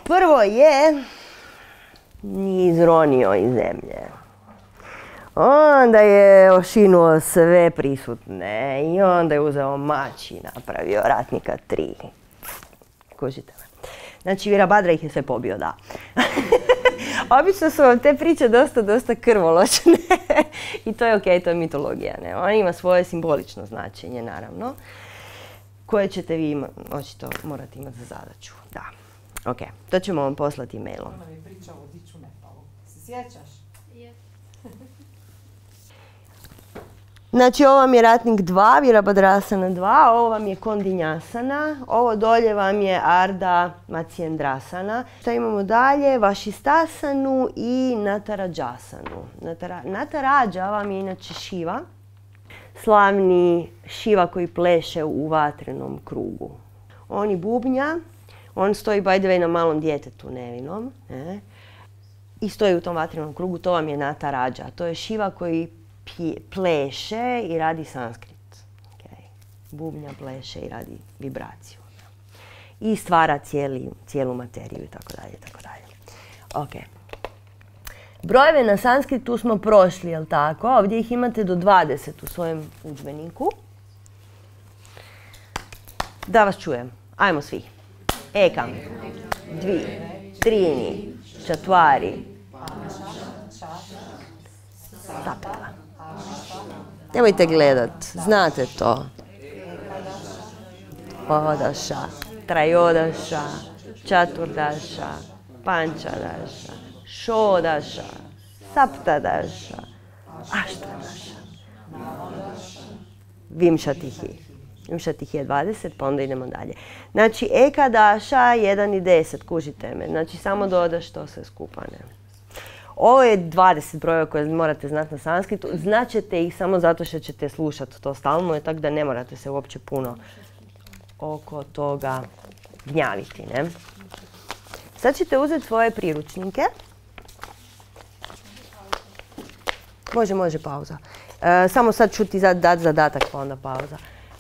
A: Prvo je izronio iz zemlje. Onda je ošinuo sve prisutne i onda je uzeo mač i napravio ratnika tri. Kužite me. Znači, Virabhadra ih je sve pobio, da. Obično su vam te priče dosta, dosta krvoločne. I to je okej, to je mitologija. Ne? Ona ima svoje simbolično značenje, naravno, koje ćete vi ima, očito morati imati za zadaću. Da. Ok, to ćemo vam poslati mailom.
B: Ona mi priča o Diču Nepalu. Se sjećaš?
D: Je.
A: Znači, ovo vam je ratnik dva, Virabhadrasana dva, ovo vam je Kondinjasana, ovo dolje vam je Ardha Matsyendrasana. Šta imamo dalje? Vašistasanu i Natarađasanu. Natara, Natarađa vam je inače Šiva, slavni Šiva koji pleše u vatrenom krugu. On i bubnja, on stoji by the way na malom djetetu nevinom, ne? I stoji u tom vatrenom krugu, to vam je Natarađa. To je Šiva koji pleše i radi sanskrit. Okay. Bubnja pleše i radi vibraciju. I stvara cijeli, cijelu materiju i tako dalje, tako dalje. Ok. Brojeve na sanskritu smo prošli, jel tako? Ovdje ih imate do dvadeset u svojem udžbeniku. Da vas čujem. Ajmo svi. Ekam, dvi, trini, čatvari, sapta. Nemojte gledat, znate to. Odaša, trajodaša, čaturdaša, pančadaša, šodaša, saptadaša, aštadaša. Vimšatihi. Vimšatihi je dvadeset, pa onda idemo dalje. Znači, ekadaša, jedan i deset, kužite me. Znači, samo dodaš to sve skupa, ne. Ovo je dvadeset brojeva koje morate znati na sanskritu. Znaćete ih samo zato što ćete slušati to stalno, tako da ne morate se uopće puno oko toga gnjaviti, ne? Sad ćete uzeti svoje priručnike. Može, može pauza. E, samo sad ću ti dati zadatak, pa onda pauza.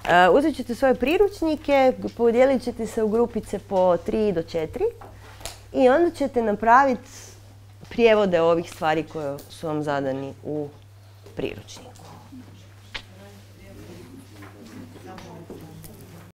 A: E, uzet ćete svoje priručnike, podijelit ćete se u grupice po tri do četiri i onda ćete napraviti prijevode ovih stvari koje su vam zadani u priručniku.